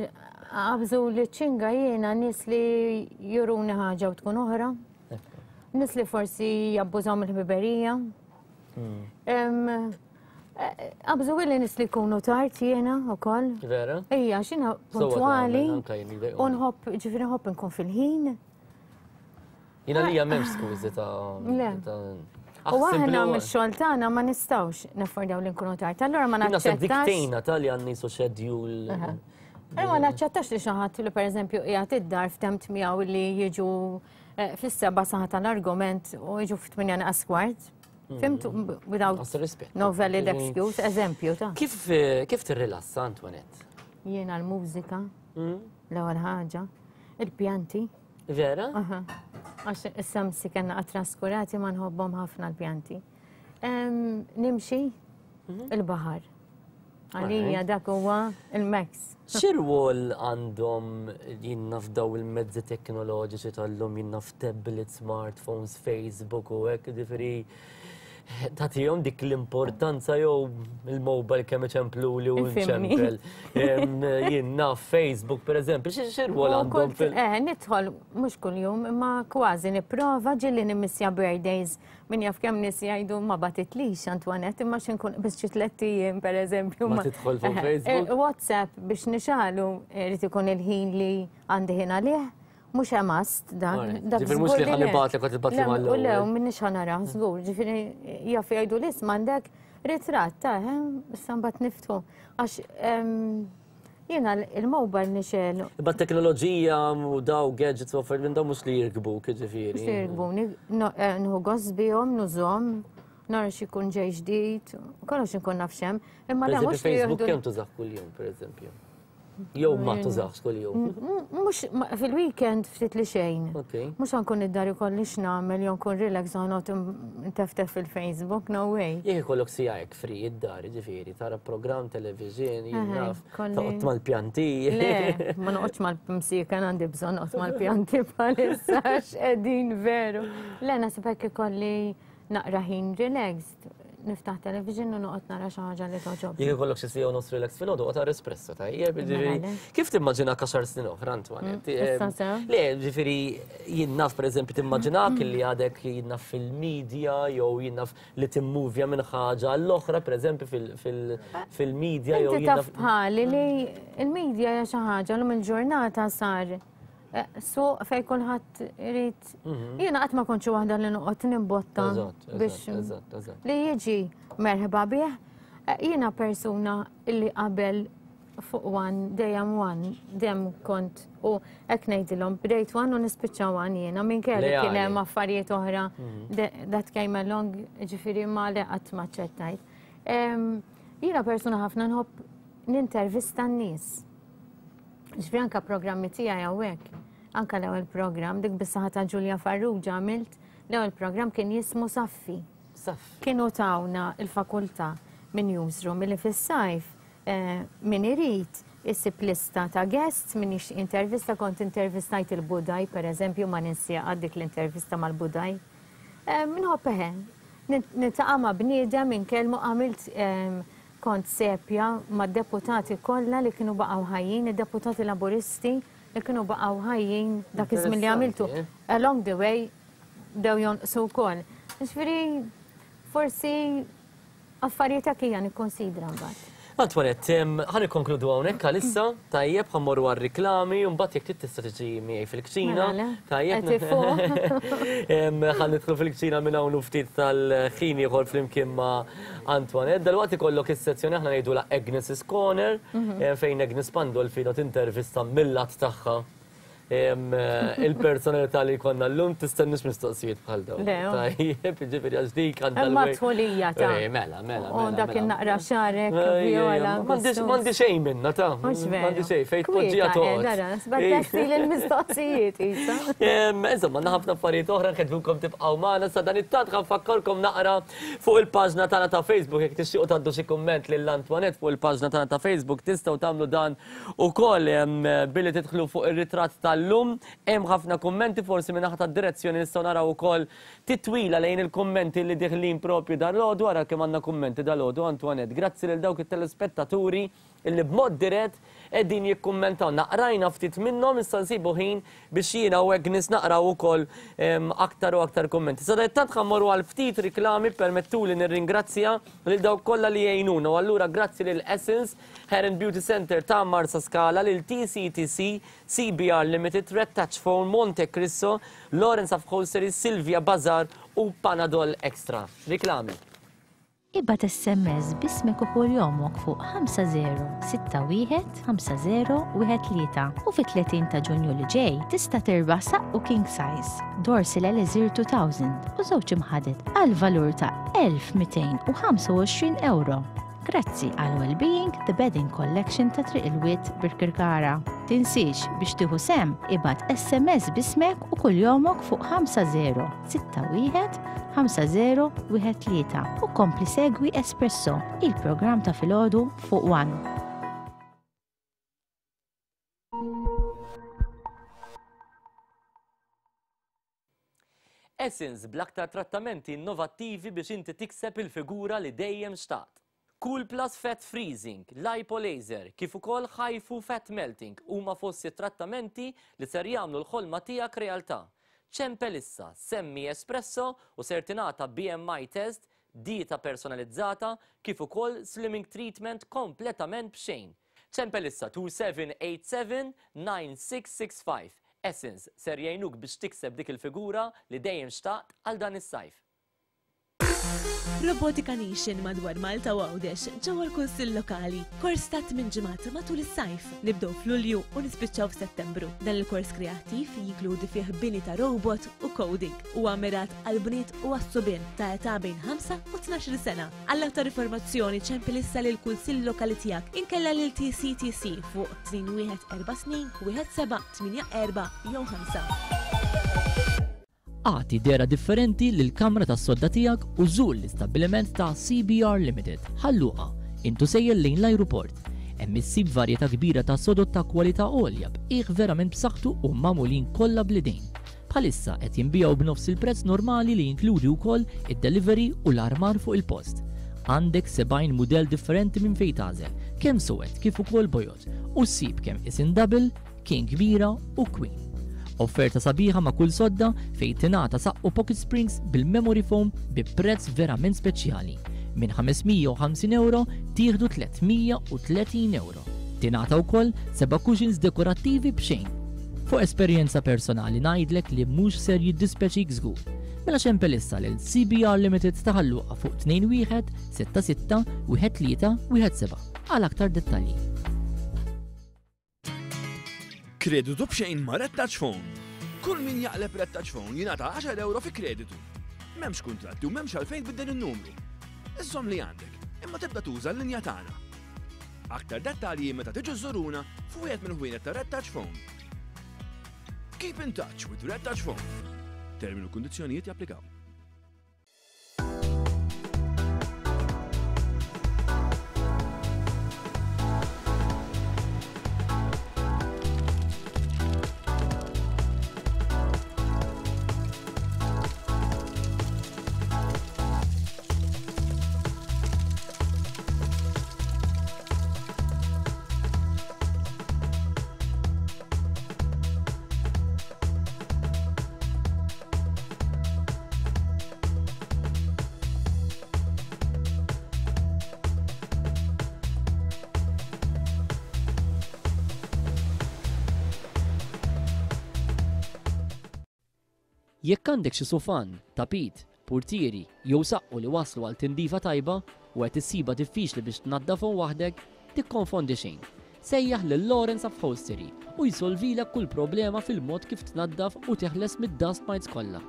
qabżu li ċ-ċinga jiena nies li juruni ħaġa u tkun oħra. Nies li forsi jabbużaw mill-ħbiberija. Qabżu li nies li jkunu tard jiena wkoll. Vera? Ejja, x'jiena puntwali u nħobb, ġifieri nħobb nkun fil-ħin. Jiena lija m'hemmx skużi ta' U aħna mix-xogħol tagħna ma nistgħux naffordjaw li nkunu tard. Allura ma naċċettax. Dik tgħinna tal-li għandni su schedule. Allura ma naċċettax li xi ħadd li pereżempju qiegħed id-dar ftemt miegħu li jiġu fis-seba' saħa tal-argument u jiġu fit-tminja naqas kwart. Fimtu, without no valid excuse, eżempju ta' Kif kif tirrilassa, Antoinette? Jiena l-mużika, l-ewwel ħaġa, il-pjanti. Vera? Għax issa msi kellna qatt traskurati ma nħobbhom ħafna l-pjanti. Nimxi il-baħar. Għalija dak huwa il-max. X'irwol għandhom jien naf daw il-mezzi teknoloġiċi tal-lum, jien naf tablets, smartphones, Facebook u hekk, ġifieri tagħtihom dik l-importanza jew il-mobile kemm iċempluli u nċempel. Jien naf Facebook pereżempju, x'irwol għandhom fil- Eh, nidħol mhux kuljum, imma kważi nipprova ġieli nimmissja birthdays. Min jaf kemm nies jgħidu ma batitlix Antoinette, imma xi nkun biss xi tliet ijiem pereżempju. Ma tidħol fuq Facebook? WhatsApp biex nixalu irid ikun il-ħin li għandi ħin għalih. Mhux must dan. Ġifieri mhux li ħa nibgħatlek u tibgħatli mal-ewwel. Le, m'iniex ħa nara, żgur. Ġifieri jaf jgħidu li isma' għandek ritratt ta' issa mbagħad niftħu. Għax jiena il-mobile nixel. Imma t-teknoloġija u daw gadgets u affarijiet minn daw mhux li jirkbuk, ġifieri. Mhux li jirkbuni, nieħu gost bihom, nużhom, nara xi jkun ġej ġdid, kollox inkun naf x'hemm. Imma le mhux li Facebook kemm tużah kuljum, pereżempju? Jew ma tużax kuljum? Mhux fil-weekend ftit li xejn. Mhux ħankun id-dar ikolli x'nagħmel jew nkun relax u ħanoqgħod nteftef fil-Facebook, no way. Jekk ikollok siegħa hekk free id-dar, jiġifieri, tara programm television, jien naf, toqgħod mal-pjanti. Le, ma noqgħodx mal-msieken, għandi bżonn noqgħod mal-pjanti bħalissa għax qegħdin veru. Le, naħseb hekk ikolli naqra ħin relaxed. Niftaħ television u noqgħod nara xi ħaġa li toġobni. Jekk ikollok xi siegħa u nofs relax filgħodu qgħod ara espresso, tajjeb, ġifieri. Kif timmaġinak għaxar snin oħra, Antoinette? Issa sew. Le, ġifieri jien naf pereżempju timmaġinak li għadek jien naf fil-media jew jien naf li timmuvja minn ħaġa għall-oħra, pereżempju fil-media jew Inti jien taf naf. bħali li il-media hija xi ħaġa llum il-ġurnata sar eh, suq fejn kulħadd irid. Jiena qatt ma kontx waħda li noqgħod nimbotta Eżatt, biex eżatt, eżatt, eżatt. li jiġi merħba bih. Eh, Jiena persuna illi qabel fuq One, dejjem One, dejjem kont u hekk ngħidilhom bdejt One u nispiċċa One jiena minkejja li kien Leali. hemm affarijiet oħra that came along, ġifieri ma li qatt ma ċċettajt. Em, Jiena persuna ħafna nħobb nintervista n-nies. Ġifieri anka programmi tiegħi hawnhekk, anka l-ewwel programm dik bis-saħħa ta' Giulia Farrugia għamilt, l-ewwel programm kien jismu Saffi. Saffi. Kienu tawna il-fakultà minn newsroom li fis-sajf eh, min irid isib lista ta' guests, min jixtieq intervista, kont intervistajt il-Budaj, per eżempju, ma ninsija dik l-intervista mal-Budaj. Eh, Minħobb eħe, niltaqa' ma' bniedem inkellmu għamilt em, kont sepja ma' deputati kollha li kienu baqgħu ħajjin, id-deputati laburisti li kienu baqgħu ħajjin dak iż-żmien li għamiltu. Interessanti, eh? Along the way, bdew jonqsu wkoll. Ġifieri, forsi affarijiet hekk hija nikkonsidra mbagħad. Antoinette, em, ħa nikkonkludu hawnhekk għalissa, tajjeb ħa mmorru għar-riklami, u mbagħad jekk trid tista' tiġi miegħi fil-kċina. Mela, le. Tajjeb. Qed ifuq. Em, Ħa nidħlu fil-kċina minn hawn u ftit tal-ħin ieħor flimkien ma' Antoinette. Dalwaqt ikollok is-sezzjoni aħna ngħidu la Agnes's Corner, Mhm. em, fejn Agnes Pandolfino tintervista mill-lat tagħha. Em, eh, Il-personalità li konna llum tistennix mistoqsijiet bħal dawn. Le, oh. Tajjeb, ġifieri għax dik għandha Imma l-way- tħulija ta' Eh, Mela, mela, U mela. dak mela. il-naqra xarek, Ej, ej, viola. M'għandix m'għandi xejn minna ta' Mhux veru. M'għandi xejn fejn tpoġġija toqgħod. Dara, sbattesti l-mistoqsijiet, isa. Em, Insomma, għandna ħafna affarijiet oħra nħeġġukom tibqgħu magħna sa dan it-tant ħa nfakkarkom naqra fuq il-paġna tagħna ta' Facebook jekk tixtiequ tgħaddu xi kumment lil Antoinette fuq il-paġna tagħna ta' Facebook tistgħu tagħmlu dan ukoll em, billi tidħlu fuq ir-ritratt tal-lum. Hemm ħafna kummenti forsi minn naħa tad-direzzjoni nistgħu naraw ukoll titwila lejn il-kummenti li diħlin propju dal-għodu ara kemm għandna kummenti dal-għodu Antoinette. Grazzi lil dawk it-telespettaturi illi b'mod dirett qegħdin jikkummentaw. Naqrajna ftit minnhom issa nsibu ħin biex jiena u Agnes naqraw ukoll em, aktar u aktar kummenti. Sadattant ħa mmorru għal ftit riklami permettuli nirringrazzja lil dawk kollha li jgħinuna u allura grazzi lil Essence Hair and Beauty Center ta' Marsa Scala, lil T C T C, C B R Limited, Red Touch Phone, Monte Cristo, Lawrence Upholstery, Silvia Bazar u Panadol Extra. Riklami. Ibgħat S M S bismek u kuljomok fuq ħamsa żero sitta wieħed ħamsa żero wieħed tlieta u fit-tletin ta' Ġunju li ġej tista' tirbaħ saqqu king size, Dorsil Elixir elfejn u żewġ imħaded għal valur ta' elf u mitejn u ħamsa u għoxrin euro. Grazzi għal Wellbeing The Bedding Collection ta' Triq il-Wied Birkirkara. Tinsiex biex tieħu sehem ibgħat S M S bismek u kuljomok fuq ħamsa żero sitta wieħed ħamsa żero wieħed tlieta u kompli segwi Espresso, il-programm ta' filgħodu fuq One. Essence bl-aktar trattamenti innovattivi biex inti tikseb il-figura li dejjem xtaqt. Cool Plus Fat Freezing, Lipo Laser, kif ukoll HIFU Fat Melting huma fost trattamenti li ser jagħmlu l-ħolma tiegħek realtà. Ċempel issa, semmi Espresso u ser tingħata B M I test, dieta personalizzata, kif ukoll slimming treatment kompletament b'xejn. Ċempel issa tnejn seba' tlieta seba' tmien sitta sitta ħamsa. Essence ser jgħinuk biex tikseb dik il-figura li dejjem xtaqt għal dan is-sajf. Robotica Nation madwar Malta u Għawdex ġewwa l-Kunsill Lokali. Kors ta' tmien ġimgħat matul is-sajf. Nibdew f'Lulju u nispiċċaw f'Settembru. Dan il-kors kreattiv jinkludi fih bini ta' robot u coding u mirat għal bniet u għas-subien ta' età bejn ħamsa u tnax-il sena. Għall aktar informazzjoni ċempel issa lil kunsill lokali tiegħek inkella lil T C T C fuq tnejn wieħed erba' tnejn wieħed seba' tmienja erba' jew ħamsa. Agħti dehra differenti lil kamra tas sodda tiegħek u żur l-istabbiliment ta' C B R Limited. Ħal Luqa, intu sejjer lejn l-ajruport. Hemm issib varjetà kbira ta' sodod ta' kwalità għolja b'qiegħ verament b'saħħtu u magħmulin kollha bl-idejn. Bħalissa qed jinbiegħu b'nofs il-prezz normali li jinkludi wkoll id-delivery u l-armar fuq il-post. Għandek sebgħin mudell differenti minn fejn tagħżel, kemm suwed kif ukoll bojod, u ssib kemm isin double, king kbira u queen. Offerta sabiħa ma' kull sodda fejn tingħata saqqu pocket springs bil-memory foam bi prezz verament speċjali. Minn ħames mija u ħamsin euro tieħdu tliet mija u tletin euro. Tingħata wkoll seba' cushions dekorattivi b'xejn. Fuq esperjenza personali ngħidlek li mhux ser jiddispeċik żgur. Mela xempel issa lil C B R Limited ta' Ħal Luqa fuq tnejn wieħed sitta sitta wieħed tlieta wieħed seba' għal aktar dettalji. Kreditu b'xejn ma' Red Touch Phone. Kull min jaqleb Red Touch Phone jingħata għaxar euro fi kreditu. M'hemmx kuntratti u m'hemmx għalfejn tbiddel in-numru. Iżżomm li għandek, imma tibda tuża l-linja tagħna. Aktar dettalji meta tiġu żuruna fuq wieħed mill-ħwienet ta' Red Touch Phone. Keep in touch with Red Touch Phone. Termini u kundizzjonijiet japplikaw. Jekk għandek xi sufan, tapit, portieri jew saqqu li waslu għal tindifa tajba u qed issiba diffiċli biex tnaddafhom waħdek, tikkonfondi xejn. Sejjaħ lil Lawrence Upholstery u jsolvilek kull problema fil-mod kif tnaddaf u teħles mid-dust mites kollha.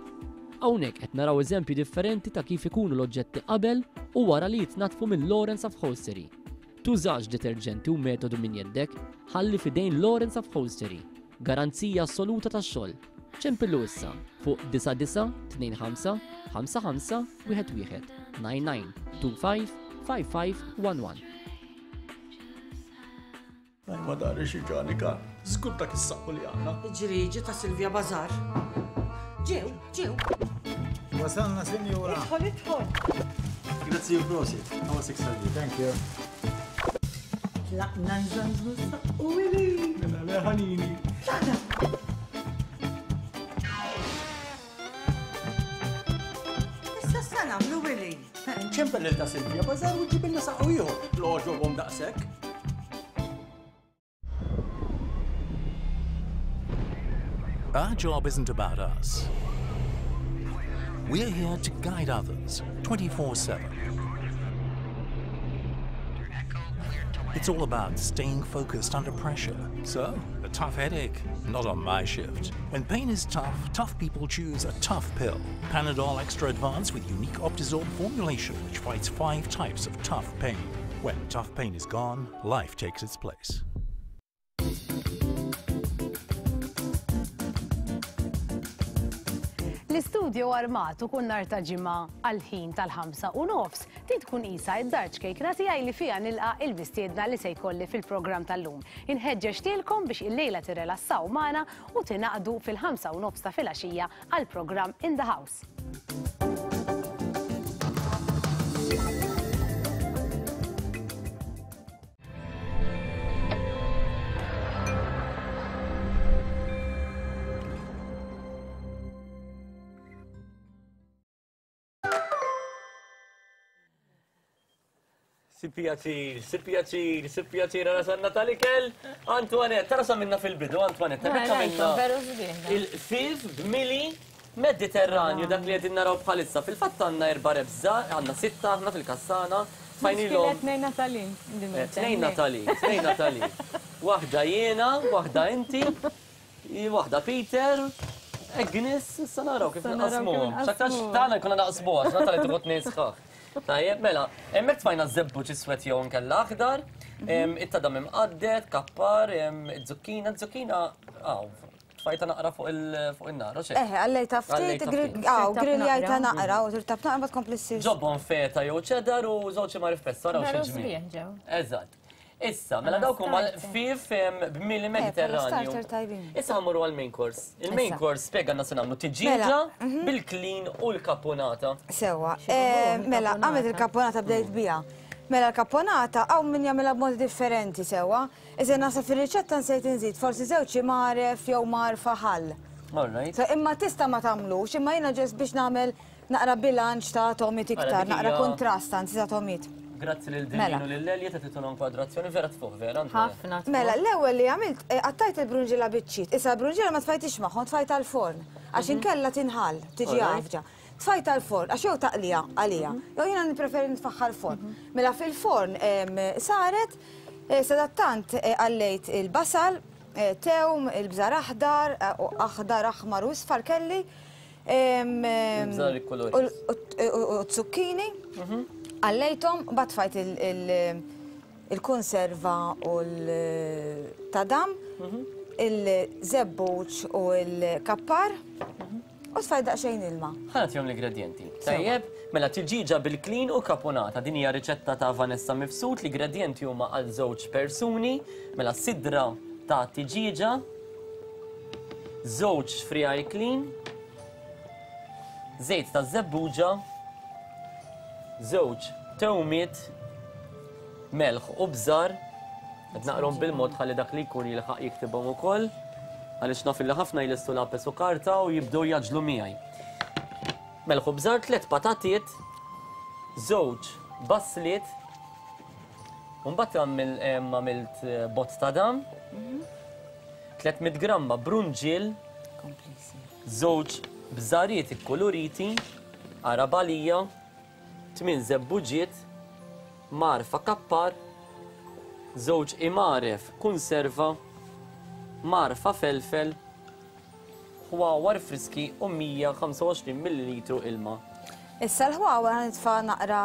Hawnhekk qed naraw eżempji differenti ta' kif ikunu l-oġġetti qabel u wara li jitnaddfu minn Lawrence Upholstery. Tużax deterġenti u metodu minn jeddek, ħalli fidejn Lawrence Upholstery. Garanzija assoluta tax-xogħol. Ċempillu issa fuq disa disa tnejn ħamsa ħamsa ħamsa wieħed wieħed nine nine two five five five one one. Daj ma dari xi ġani kan, żgur dak is-saqqu li għandna. Ġriġi ta' Silvia Bazar. Ġew, ġew. Wasalna, sinjura. Idħol, idħol. Grazzi u prosit. Għawa six hundred. Thank you. Tlaqna nżanżnu s-saqqu ili. Mela le ħanini. Tlaqna. Issa sa nagħmlu Willy. Ċempel lil ta' Silvia Bazar u ġibilna saqqu ieħor. L-għoġobhom daqshekk. Our job isn't about us. We're here to guide others twenty-four seven. It's all about staying focused under pressure. So, a tough headache, not on my shift. When pain is tough, tough people choose a tough pill. Panadol Extra Advance with unique Optizorb formulation, which fights five types of tough pain. When tough pain is gone, life takes its place. L-istudio armat u kun nar ta' ġimgħa għal-ħin tal-ħamsa u nofs din tkun qisha id-dar ċkejkna tiegħi li fiha nilqa' il-mistiedna li se jkolli fil-programm tal-lum. Inħeġġeġ tilkom biex illejla tirrelassaw magħna u tingħaqdu fil-ħamsa u nofs ta' filgħaxija għall-programm In the House. Si pjaċir, si pjaċir, si pjaċir, għara sanna tal-ikel. Antoinette, tara sa minna fil-bidu, Antoinette, Mela, minna rajtu, veru sbieħ, da. Il-fif b'mili Mediterranju, dak li qegħdin naraw bħalissa. Fil-fatt għandna erba' rebża, għandna sitta aħna fil-kassana. Fajnilhom. Miskina, tnejn Natali. Eh, tnejn Natali, tnejn Natali. Waħda jiena, waħda inti, waħda Peter. Agnes, issa naraw kif Issa naraw kif naqsmuhom. X'aktarx naqsmuhom. tagħna jkollna naqsmuha, għax Natali tieħu tnejn sħaħ. Tajjeb, mela, hemmhekk tfajna żebbuġ iswed jew inkella aħdar, em, it-tadam imqadded, kappar, em, iz-zukkina, z-zukkina, aw, tfajta naqra fuq il-, fuq in-nar, u xejn. Eħe, għallejta ftit, Għallejta grill- ftit. aw, Tirtab grilljajta naqra. naqra, u tirtab naqra ma tkompli ssir. Ġobon feta jew ċedar u żewġ imar f'pezz, araw Veru xi ġmiel. sbieħ ġew. Eżatt. Issa, mela dawk huma l-ħfief b'mili Mediterranju. Issa ħammorru għall-main course. Il-main course spjega għandna se nagħmlu tiġieġa bil-klin u l-kapunata. Sewwa, mela għamilt il-kapunata bdejt biha. Mela l-kapunata hawn min jagħmilha b'modi differenti sewwa. Iżda naħseb fir-riċetta nsejt inżid forsi żewġ imgħaref jew mgħarfa ħall. Imma tista' ma tagħmlux, imma jiena ġest biex nagħmel naqra bilanċ ta' tomit iktar, naqra kontrast anzi ta' tomit. Grazzi lil Dilin u lil Lelja ta' tituna inkwadrazzjoni vera tfuħ vera. Ħafna. Mela, l-ewwel li għamilt qattajt il-brunġilla biċċiet. Issa l-brunġilla ma tfajtix magħhom, tfajta l-forn għax inkella tinħall, tiġi għafġa. Tfajta l-forn għax jew taqlija għalija, jew jiena nippreferi nitfaħħa l-forn. Mela fil-forn saret, sadattant għallejt il-basal, tewm, il-bżar aħdar, aħdar, aħmar u isfar kelli. Il-bżar ikkolori. U zucchini. Għallejthom, batfajt il-konserva u l-tadam, il-żebbuġ u l-kappar, u tfajt daqsxejn ilma. Ħa nagħtihom l-ingredienti. Tajjeb, mela tiġieġa bil-klin u kapunata. Din hija riċetta ta' Vanessa Mifsud. L-ingredienti huma għal żewġ persuni. Mela sidra ta' tiġieġa, żewġ frijaj klin, żejt ta' żebbuġa, żewġ tewmiet, melħ u bżar. Qed naqrom bil-mod ħalli dak li jkun jilħaq jiktibhom ukoll, għaliex naf illi ħafna jlestu lapes u karta u jibdew jaġlu miegħi. Melħ u bżar, tliet patatiet, żewġ basliet, u mbagħad għamilt bott ta' dam, tliet mitt gramma brunġiel, żewġ bżariet ikkoloriti, arabalija, tmien żebbuġiet, marfa kappar, żewġ imaref konserva, marfa felfel, ħwawar friski u mija u ħamsa u għoxrin millilitru ilma. Issa l-ħwawar ħanitfa' naqra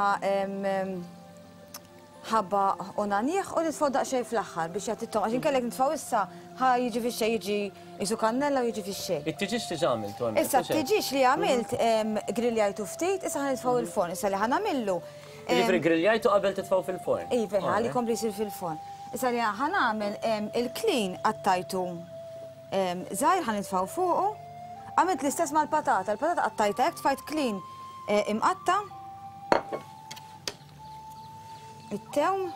ħabba u nanjieħ u nitfgħu daqsxejn fl-aħħar biex jagħti t-tom, għax inkellek nitfgħu issa ħa jiġi fix-xejn, jiġi jisu kannella u jiġi fix-xejn. It-tiġieġ diġà għamiltu hemmhekk. Issa t-tiġieġ li għamilt grilljajtu ftit, issa ħa nitfgħu il-forn, issa li ħa nagħmillu. Jiġifieri grilljajtu qabel titfgħu fil-forn. Iva, ħalli jkompli jsir fil-forn. Issa li ħa nagħmel il-klin qattajtu żgħir ħa nitfgħu fuqu. Għamilt l-istess mal-patata, il-patata qattajta hekk, tfajt klin imqatta. It-tewm.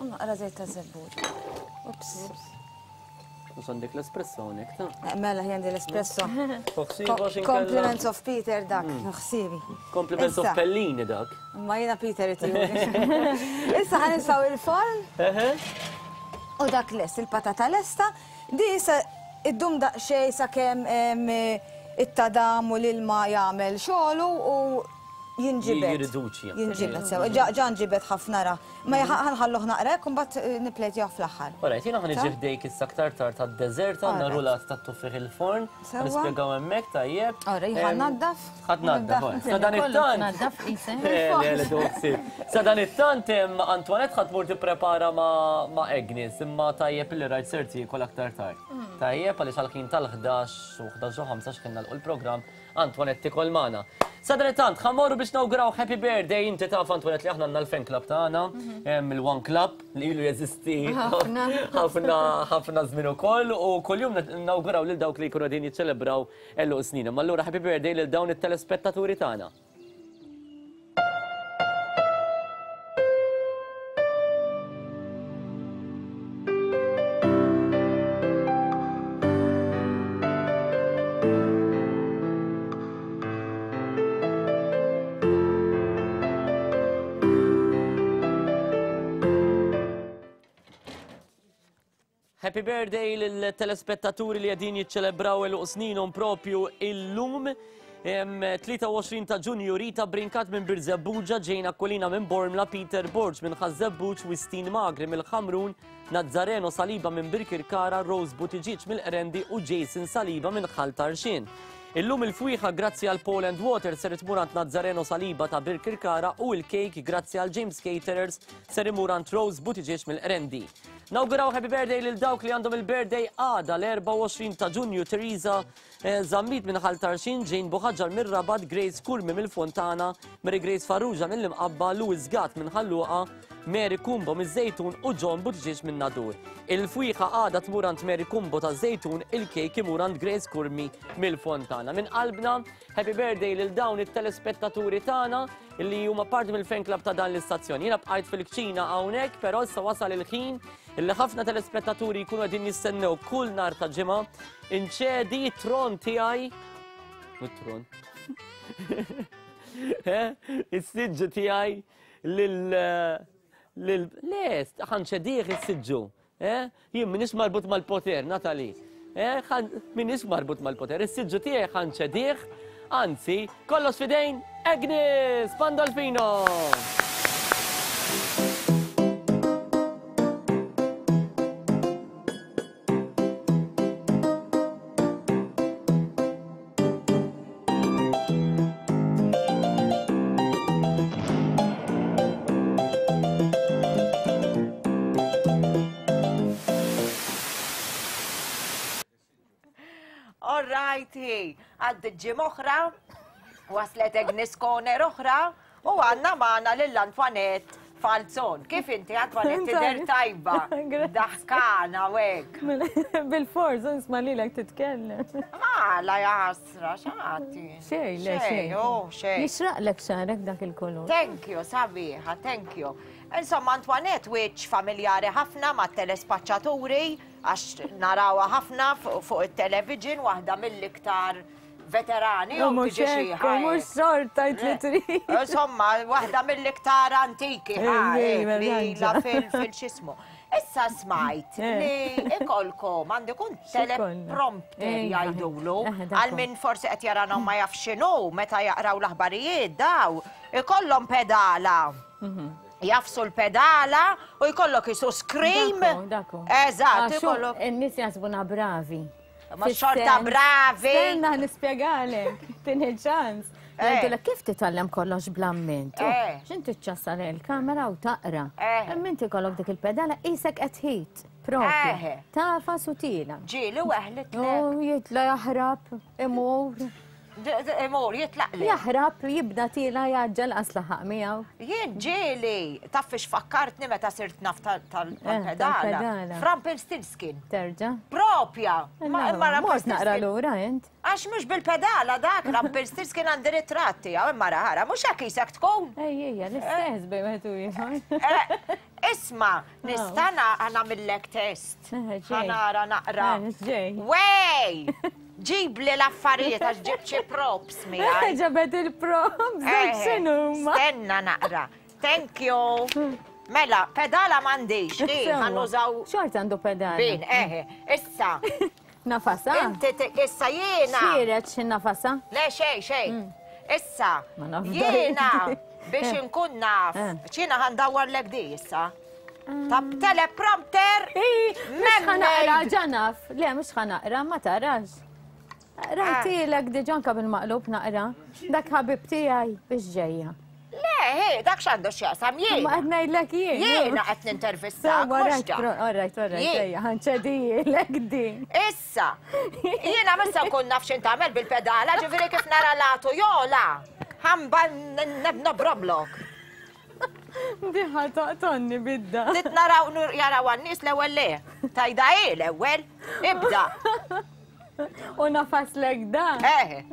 U naqra żejt ta' żebbuġ. Ups. Mhux għandek l-espresso hawnhekk ta'? Mela hi għandi l-espresso. Compliments of Peter dak, ħsibi. Compliments of Pellini dak. Ma jiena Peter itihuli. Issa ħa nitfgħu il-forn. U dak lest, il-patata lesta. Di issa iddum daqsxejn sakemm it-tadam u l-ilma jagħmel xogħlu u jinġibed. Jirriduċi. Jinġibed sew. Ġa nġibed ħafna ra. Ma ħanħalluh naqra hekk u mbagħad nipplejtjah fl-aħħar. Alright, jiena ħa niġi ħdejk issa aktar tard tad-deżert, għandna rulat tat-tuffieħ il-forn. Nispjegaw hemmhekk tajjeb. Ora, jien ħa naddaf. Ħa tnaddaf. Sa dan it-tant. Naddaf qisek. Le, le, le, Sa dan it-tant Antoinette ħa tmur tipprepara ma' Agnes, imma tajjeb illi rajt ser tiekol aktar tard. Tajjeb għaliex għall-ħin tal-ħdax u ħdax u ħamsa x'kien nagħlqu l-programm, Antoinette tikol magħna. Sa dan it-tant ħa mmorru biex nawguraw happy birthday. Inti taf Antoinette li aħna għandna l-fan club tagħna, il-One Club li ilu jeżisti ħafna ħafna żmien ukoll u kuljum nawguraw lil dawk li jkunu qegħdin jiċċelebraw għeluq snin. Imma allura happy birthday lil dawn it-telespettaturi tagħna. Happy birthday lill-telespettaturi li qegħdin jiċċelebraw għeluq sninhom propju illum. tlieta u għoxrin ta' Ġunju, Rita Brincat minn Birżebbuġa, Ġejna Kolina minn Bormla, Peter Borg minn Ħaż-Żebbuġ, Wistin Magri mill-Ħamrun, Nazzareno Saliba minn Birkirkara, Rose Buttigieg mill-Qrendi u Jason Saliba minn Ħal Tarxien. Illum il-fwieħa grazzi għal Paul and Water ser itmur għand Nazzareno Saliba ta' Birkirkara u l-kejk grazzi għal James Caterers ser imur għand Rose Buttigieg mill-Qrendi. Nawguraw happy birthday lil dawk li għandhom il-birthday għada l-erbgħa u għoxrin ta' Ġunju, Teresa Zammit minn Ħal Tarxien, Jane Buħaġar minn Rabat, Grace Kurmi mill-Fontana, Mary Grace Farrugia mill-Imqabba, Louis Gatt minn Ħal Luqa, Mary Kumbo miż-Żejtun u John Buttigieg minn Nadur. Il-fwieħa għada tmur għand Mary Kumbo ta' Żejtun, il-kejk imur għand Grace Kurmi mill-Fontana. Minn qalbna, happy birthday lil dawn it-telespettaturi tagħna li huma parti mill-fan club ta' dan l-istazzjon. Jiena bqajt fil-kċina hawnhekk, però issa wasal il-ħin illi ħafna telespettaturi jkunu qegħdin jistennew kull nhar ta' ġimgħa. Inċedi t-tron tiegħi. It-tron. Is-siġġu tiegħi lil lil le, ħanċedih is-siġġu. Jien m'iniex marbut mal-poter, Natali. M'iniex marbut mal-poter, is-siġġu tiegħi ħanċedih, anzi, kollox fidejn Agnes Pandolfino. Għaddi ġimgħa oħra, waslet Agnes Corner oħra, u għandna magħna lil Antoinette Falzon. Kif inti Antoinette tidher tajba? Daħkana u hekk. Bil-forz, nisma' lilek titkellem. Għala jasra, x'għati? Xejn, le xejn. Xejn. Jixraqlek xagħrek dak il-kulur. Thank you, sabiħa, thank you. Insomma, Antoinette wiċċ familjari ħafna mat-telespaċċaturi, għax narawha ħafna fuq it-television, waħda mill-iktar veterani. U mhux hekk, u mhux xorta li trid. Insomma, waħda mill-iktar antiki li la fil-xismu. Issa smajt li ikolkom għandikun teleprompter jgħidulu għal min forsi qed jarana ma jaf x'inhu meta jaqraw l-aħbarijiet daw ikollhom pedala. Jafsu l-pedala u jkollok jisu scream. Eżatt, ikollok. In-nies jaħsbuna bravi. Ma xorta bravi. Stenna nispjegalek, tini ċans. Għidulek kif titgħallem kollox bl-amment? X'inti ċċassa il-kamera u taqra. Imma inti kollok dik il-pedala qisek qed ħit. Propju. Tafa sutila. Ġieli weħlitlek. U jitla jaħrab, imur. Imur, jitlaqli. Jaħrab, jibda tila jaġġel qas laħaq miegħu. Jien ġieli, taf fiex fakkartni meta sirt naf tal-pedala. Rumpelstiltskin. Terġa'. Propja. Imma mort naqra lura int. Għax mhux bil-pedala dak Rumpelstiltskin għandi ritratt tiegħu, imma ħara, mhux hekk isek tkun. Ej, ejja, l-istess bejn wieħed u ieħor. Isma, nista' nagħmillek test. Ħanara naqra. Wej! Ġib li l-affarijiet għax ġib xi props miegħi. Ġabet il-props, dak x'inhuma. Stenna naqra. Thank you. Mela, pedala m'għandix, ħa nużaw. Xorta għandu pedala. Bin, eħe. Issa. Nafasa? Inti issa jiena. Xieret xi nafasa? Le xejn, xejn. Issa. Jiena biex inkun naf. Ċina ħandawwarlek di issa. Ta' teleprompter. Mhux ħa naqra ġanaf. Le, mhux ħa naqra, ma tarax. Rajtilek diġà bil-maqlub naqra. Dak ħabib tiegħi biex ġejja. Le, he, dak x'għandu x'jaqsam jien. Ma qed ngħidlek jien. Jiena qed nintervistak. Alright, alright, ejja, ħanċedijilek din. Issa, jiena missa nkun naf x'int tagħmel bil-pedala, ġifieri kif nara latu jola. Ħamba nobroblok. Diħa taqtonni bidda. Tit naraw jaraw għan-nies l-ewwel le. Tajda hi l-ewwel, ibda. U nafaslek dan. Eh.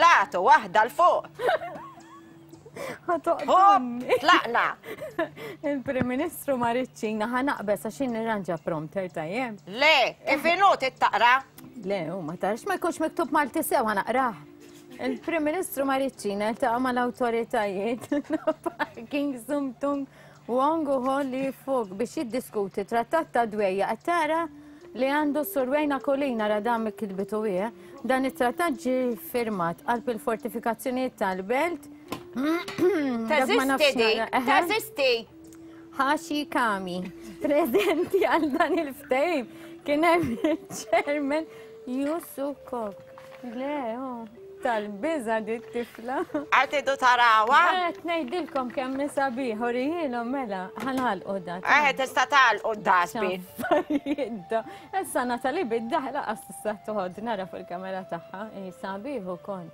Latu waħda l fuq. Ħatoqtonni. Tlaqna. Il-Prim Ministru ma rridx ħa naqbes għax nirranġa prompter tajjeb. Le, kif inhu taqra? Le, u ma tarax ma jkunx miktub Malti sew ħa naqrah. Il-Prim Ministru ma rridx iltaqa' mal-awtoritajiet Parking Sumtung Wong u Holly Fuk biex jiddiskuti trattat ta' dwejja qed tara li għandu Sur Wayne Aquilina ra dan kitbitu hija. Dan it-trattat ġie firmat qalb il-fortifikazzjonijiet tal-belt. Teżisti di, teżisti. Hashi Kami, preżenti għal dan il-ftehim, kien hemm il-chairman Yusuf Kok. Le, oh. Tal-biża' di t-tifla. Qed idu tarawha? Qed ngħidilkom kemm hi sabiħ, urihielhom mela, ħa nagħlqu da. Eh, tista' tagħlqu d-dasbin. Issa Natalie bid-daħla qas tista' toħod nara fuq il-kamera tagħha, hi sabiħ ukoll.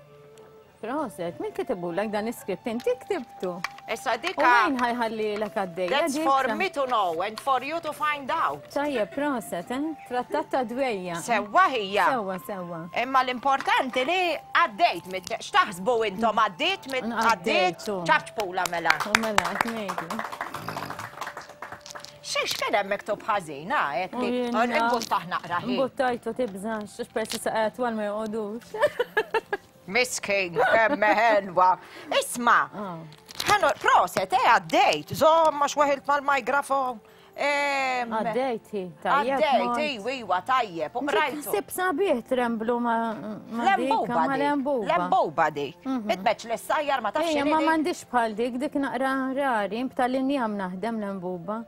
Proset, min kitibulek dan is-script? Inti ktibtu. Issa dika. U min ħajħallilek għaddejja? That's for me to know and for you to find out. Tajjeb, proset, eh? Trattat ta' dwejja. Sewwa hija. Sewwa, sewwa. Imma l-importanti li għaddejt mit x'taħsbu intom għaddiet mit għaddiet ċapċpula mela. U mela, qed ngħidu. Xiex kien hemm miktub ħażin, ah, hekk li imbuttaħ naqra ħin. Imbuttajtu tibżax, għax persi saqajja twal ma joqogħdux. Miskin, kemm ħelwa. Isma, ħanu, proset, eh, għaddejt, żomm għax weħilt mal-mikrofon. Għaddejt, hi, tajjeb. Għaddejt, iwa, iwa, tajjeb, u qrajtu. Sib sabiħ tremblu ma' Lembuba ma' lembuba. Lembuba dik. Itmeċ li s-sajjar ma tafx Ejja, ma m'għandix bħal dik, dik naqra rari, b'tal-injam naħdem lembuba.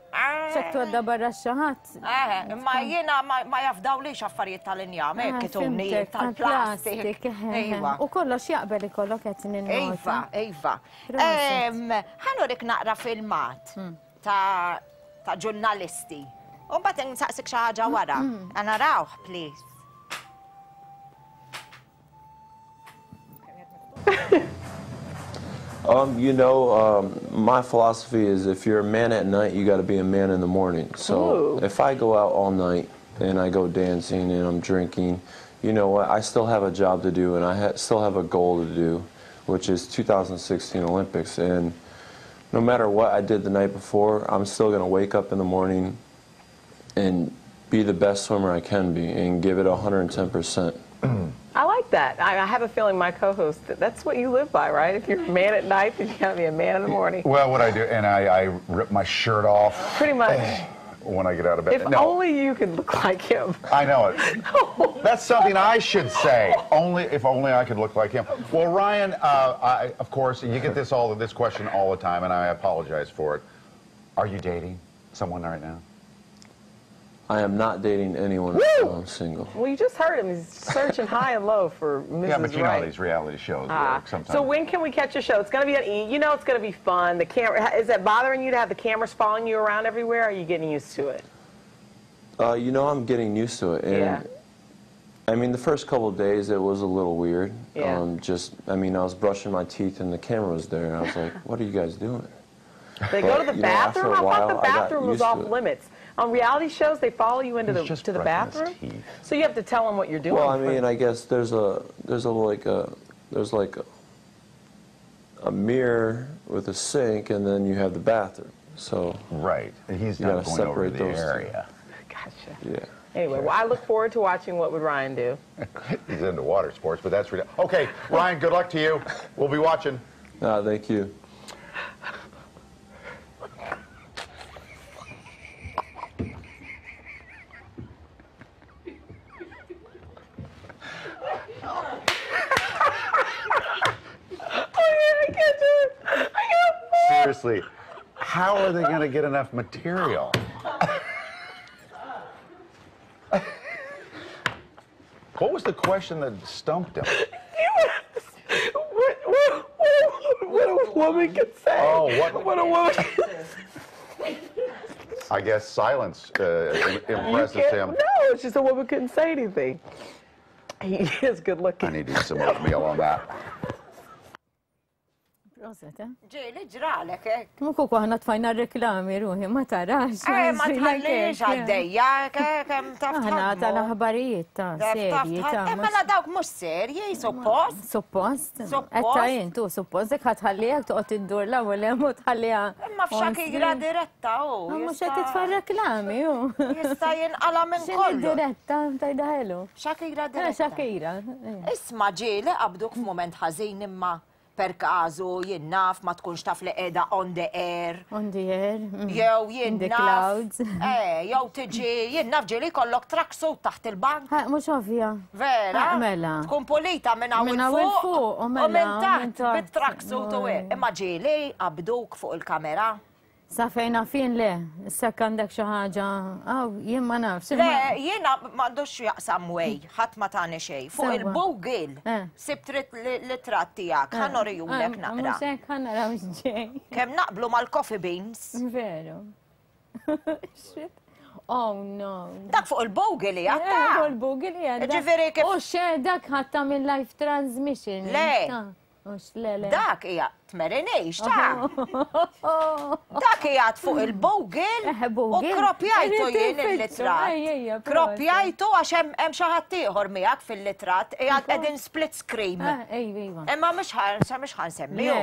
Xek tgħodda barra x-xaħat. Eh, imma jiena ma jafdawlix affarijiet tal-injam, hekk ituni tal-plastik. Iva. U kollox jaqbel ikollok qed ninnota. Iva, iva. Ħa nurik naqra filmat ta' ta' ġurnalisti. U mbagħad nsaqsik xi ħaġa wara. Narawh, please. Um, you know, um, my philosophy is if you're a man at night, you got to be a man in the morning. So Ooh. if I go out all night and I go dancing and I'm drinking, you know what? I still have a job to do and I ha still have a goal to do, which is two thousand sixteen Olympics. And no matter what I did the night before, I'm still gonna wake up in the morning and be the best swimmer I can be and give it a hundred and ten percent. I like that. I, I have a feeling my co-host, that's what you live by, right? If you're a man at night, then you gotta be a man in the morning. Well, what I do, and I, I rip my shirt off. Pretty much. When I get out of bed. If no. only you could look like him. I know it. That's something I should say. Only if only I could look like him. Well, Ryan, uh, I, of course, you get this all this question all the time, and I apologize for it. Are you dating someone right now? I am not dating anyone right now. I'm single. Well, you just heard him. He's searching high and low for Missus Yeah, but you know Right. how these reality shows Ah. work sometimes. So when can we catch your show? It's gonna be on E! You know it's gonna be fun. The camera, is that bothering you to have the cameras following you around everywhere? Or are you getting used to it? Uh, you know, I'm getting used to it. And Yeah. I mean, the first couple of days, it was a little weird. Yeah. Um, just, I mean, I was brushing my teeth and the camera was there. And I was like, what are you guys doing? They go But, to the you know, after bathroom? a I thought while, the I got bathroom was used to off it. limits. On reality shows, they follow you into He's the just to the brushing his bathroom. So you have to tell them what you're doing. Well, I mean, I guess there's a there's a like a there's like a, a mirror with a sink, and then you have the bathroom. So right, he's you not gotta going over separate the those two. area. Gotcha. Yeah. Anyway, well, I look forward to watching What Would Ryan Do. He's into water sports, but that's ridiculous. Okay, Ryan, good luck to you. We'll be watching. No, thank you. Seriously, how are they gonna get enough material? What was the question that stumped him? What, what, what, what a woman could say. Oh, what? What a woman could say. I guess silence uh, impresses You can't- him. No, it's just a woman couldn't say anything. He is good looking. I need to eat some oatmeal on that. Proset, eh? Ġieli ġralek, eh? Mhux ukoll aħna tfajna reklami ruħi, ma tarax. Eh, ma tħallix għaddejja, kemm taf Aħna tħaddmu. tal-aħbarijiet ta' Taf serji taf ta' Eh, mela dawk mhux serji, suppost. Suppost. Suppost. Etta intu, suppost, dik ħatħallija toqgħod iddur l-ewwel hemm u tħalliha. Imma f'Shakira diretta u. Mhux qed titfa' reklami hu. Jista' jinqala minn X'inhi kollu. diretta tajda ħelu. Shakira Eh, diretta. Shakira. Isma' ġieli qabduk f'mument ħażin imma per każu jien naf ma tkunx taf li qiegħda on the air. On the air. mm. Jew jien In the naf. clouds. Eh, jew tiġi jien naf ġieli kollok tracksuit taħt il-bank. Ha, mhux ovvja. Vera? Ah, mela. Tkun pulita minn hawn Minn hawn il fuq. il fuq, u mela, U minn u minn taħt taħt. bit-tracksuit u hekk. Imma ġieli qabduk fuq il-kamera. Sa fejn fin le, issa għandek xi ħaġa, aw jien ma nafx. Le, jiena m'għandux jaqsam way, ħadd ma tani xejn. Fuq il-Google sibt l-ritratt tiegħek, ħa norihulek naqra. Mhux hekk ħa naraw x'ġej. Kemm naqblu mal-coffee beans. Veru. Shit. Oh no. Dak fuq il-Google hija ta. Fuq il-Google hija. Ġifieri kif. U xe dak ħadd minn live transmission. Le. Dak hija tmerinix ta' dak hija fuq il-Google u kropjajtu jien il-litratt. Kropjajtu għax hemm xi ħadd ieħor miegħek fil-litratt qiegħed qegħdin split screen. Imma mhux mhux ħa nsemmihu.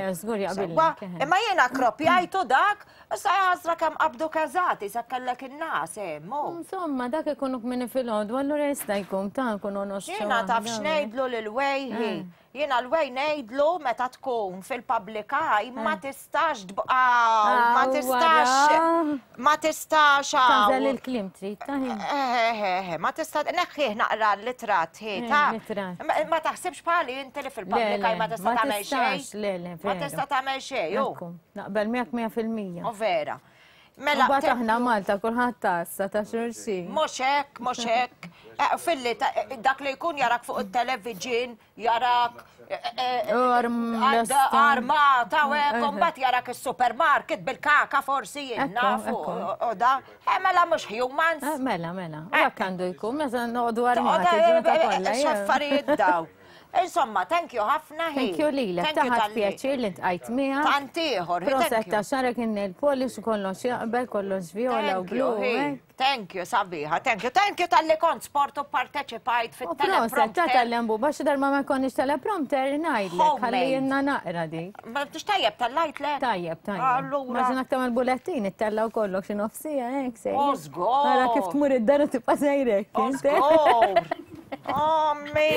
Imma jiena kropjajtu dak, issa ħasra kemm qabdu każati sa kellek in-nas hemm. Insomma, dak ikunu kmini fil-għodu, allura jista' jkun ta' nkunu noxxu. Jiena taf x'ngħidlu lil wejħi. Jiena l-wej ngħidlu meta tkun fil-public eye ma tistax tbqa' ma tistax ma tistax Tażel il-kliem trid ta' Eh ma tista' neħħih naqra l-litratt hi ta' ma taħsibx bħali inti li fil-public eye ma tista' tagħmel xejn. Ma tista' tagħmel xejn. Naqbel miegħek mija fil-mija. U vera. Mela mbagħad aħna Malta kulħadd tassa ta' xulxin. Mhux hekk, mhux hekk. Filli dak li jkun jarak fuq it-television, jarak armata u hekk, u mbagħad jarak is-supermarket bil-kaka forsi jien nafu u da. Mela mhux humans. Mela, mela. U hekk għandu jkun meta noqogħdu armati. X'affarijiet daw. Insomma, thank you ħafna hi. Thank you lilek, taħat pjaċir li ntqajt miegħek. Tant ieħor. Proset ta' xarek in-nail polish u kollox jaqbel, kollox viola u blu. Thank you, sabiħa, thank you. Thank you tal-li kont sport u parteċipajt fit-teleprompter. Proset ta' tal-lembu, baxi darba ma konniex teleprompter ngħidlek, ħalli jenna naqra dik. Ma tix tajjeb tal-lajt le? Tajjeb, tajjeb. Maġina tagħmel bulettin, ittella u kollok xi nofsija hekk sejjer. Żgur. Ara kif tmur id-dar u tibqa' sejrek. Żgur. Ommi!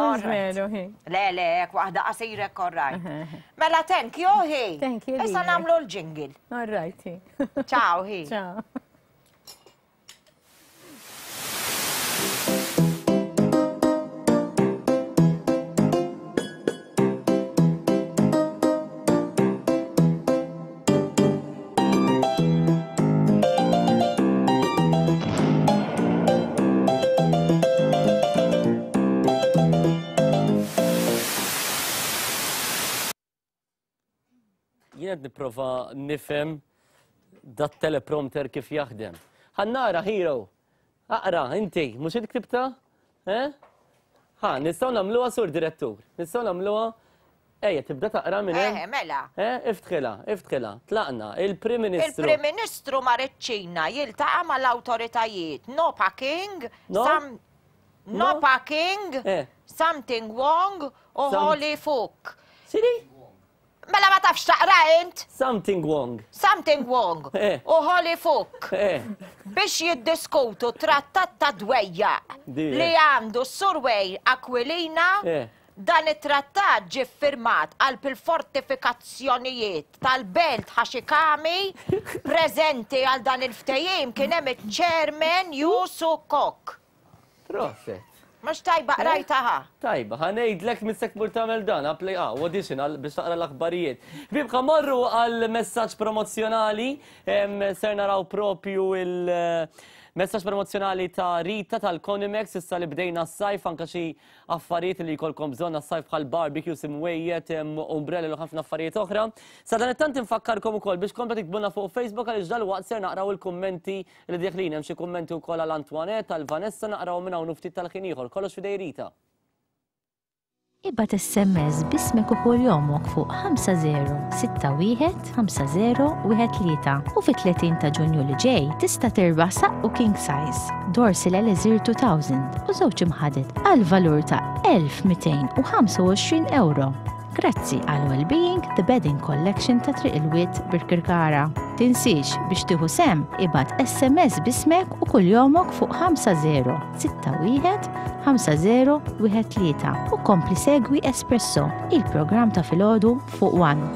Veru, hi. Le, le, waħda qasirek, all right. Mela, thank you, hi. Thank you. Issa nagħmlu l-jingle. All right, hi. Ciao, hi. Ciao. Jien qed nipprova nifhem dat teleprompter kif jaħdem. Ħannara, hero, aqra, inti, mhux int ktibta? Eh? Ħa, nistgħu nagħmluha sur direttur, nistgħu nagħmluha, ejja tibda taqra minn hemm. Eh, mela. Eh, iftħilha, iftħilha, tlaqna, il-Prim Ministru. Il-Prim Ministru mar iċ-Ċina jiltaqa' mal-awtoritajiet. No packing, some no packing, something wrong u holy fuck. Siri? Mela ma tafx taqra int? Something wrong. Something wrong. U holy fuck. Biex jiddiskutu trattat ta' dwejjaq li għandu s-Surwej Aquilina, dan it-trattat ġie ffirmat għal il-fortifikazzjonijiet tal-belt Ħaxikami preżenti għal dan il-ftehim kien hemm iċ-chairman Yusu Kok. Proset. Mux tajba qrajta ħa. Tajba, ħa ngħidlek missek mur tagħmel dan, apply ah, audition biex taqra l-aħbarijiet. Ħbieb, ħa morru għal messaġġ promozzjonali, ser naraw propju il-messaġġ promozzjonali ta' Rita tal-Conimex, issa li bdejna s-sajf, anka xi affarijiet li jkollkom bżonn għas-sajf bħal barbecue, simwejjed, umbrelli u ħafna affarijiet oħra. Sa dan it-tant infakkarkom ukoll biex komplu tiktbulna fuq Facebook għaliex dalwaqt ser naqraw il-kummenti li deħlin, hemm xi kummenti wkoll għal Antoinette, għal Vanessa, naqraw minn hawn ftit tal-ħin ieħor. Kollox f'idej Rita. Ibgħat S M S bismek u kuljomok fuq ħamsa zero sitta wieħed ħamsa zero wieħed tlieta u fit-tletin ta' Ġunju li ġej tista' tirbaħ saqqu king size, Dorsil Elixir two thousand u żewġ imħadet għal valur ta' elf mitejn u ħamsa u għoxrin euro. Grazzi għal Wellbeing The Bedding Collection ta' Triq il-Wied Birkirkara. Tinsiex biex tieħu sem ibgħat S M S bismek u kuljomok fuq ħamsa zero sitta wieħed ħamsa zero wieħed tlieta u kompli segwi Espresso, il-programm ta' filgħodu fuq One.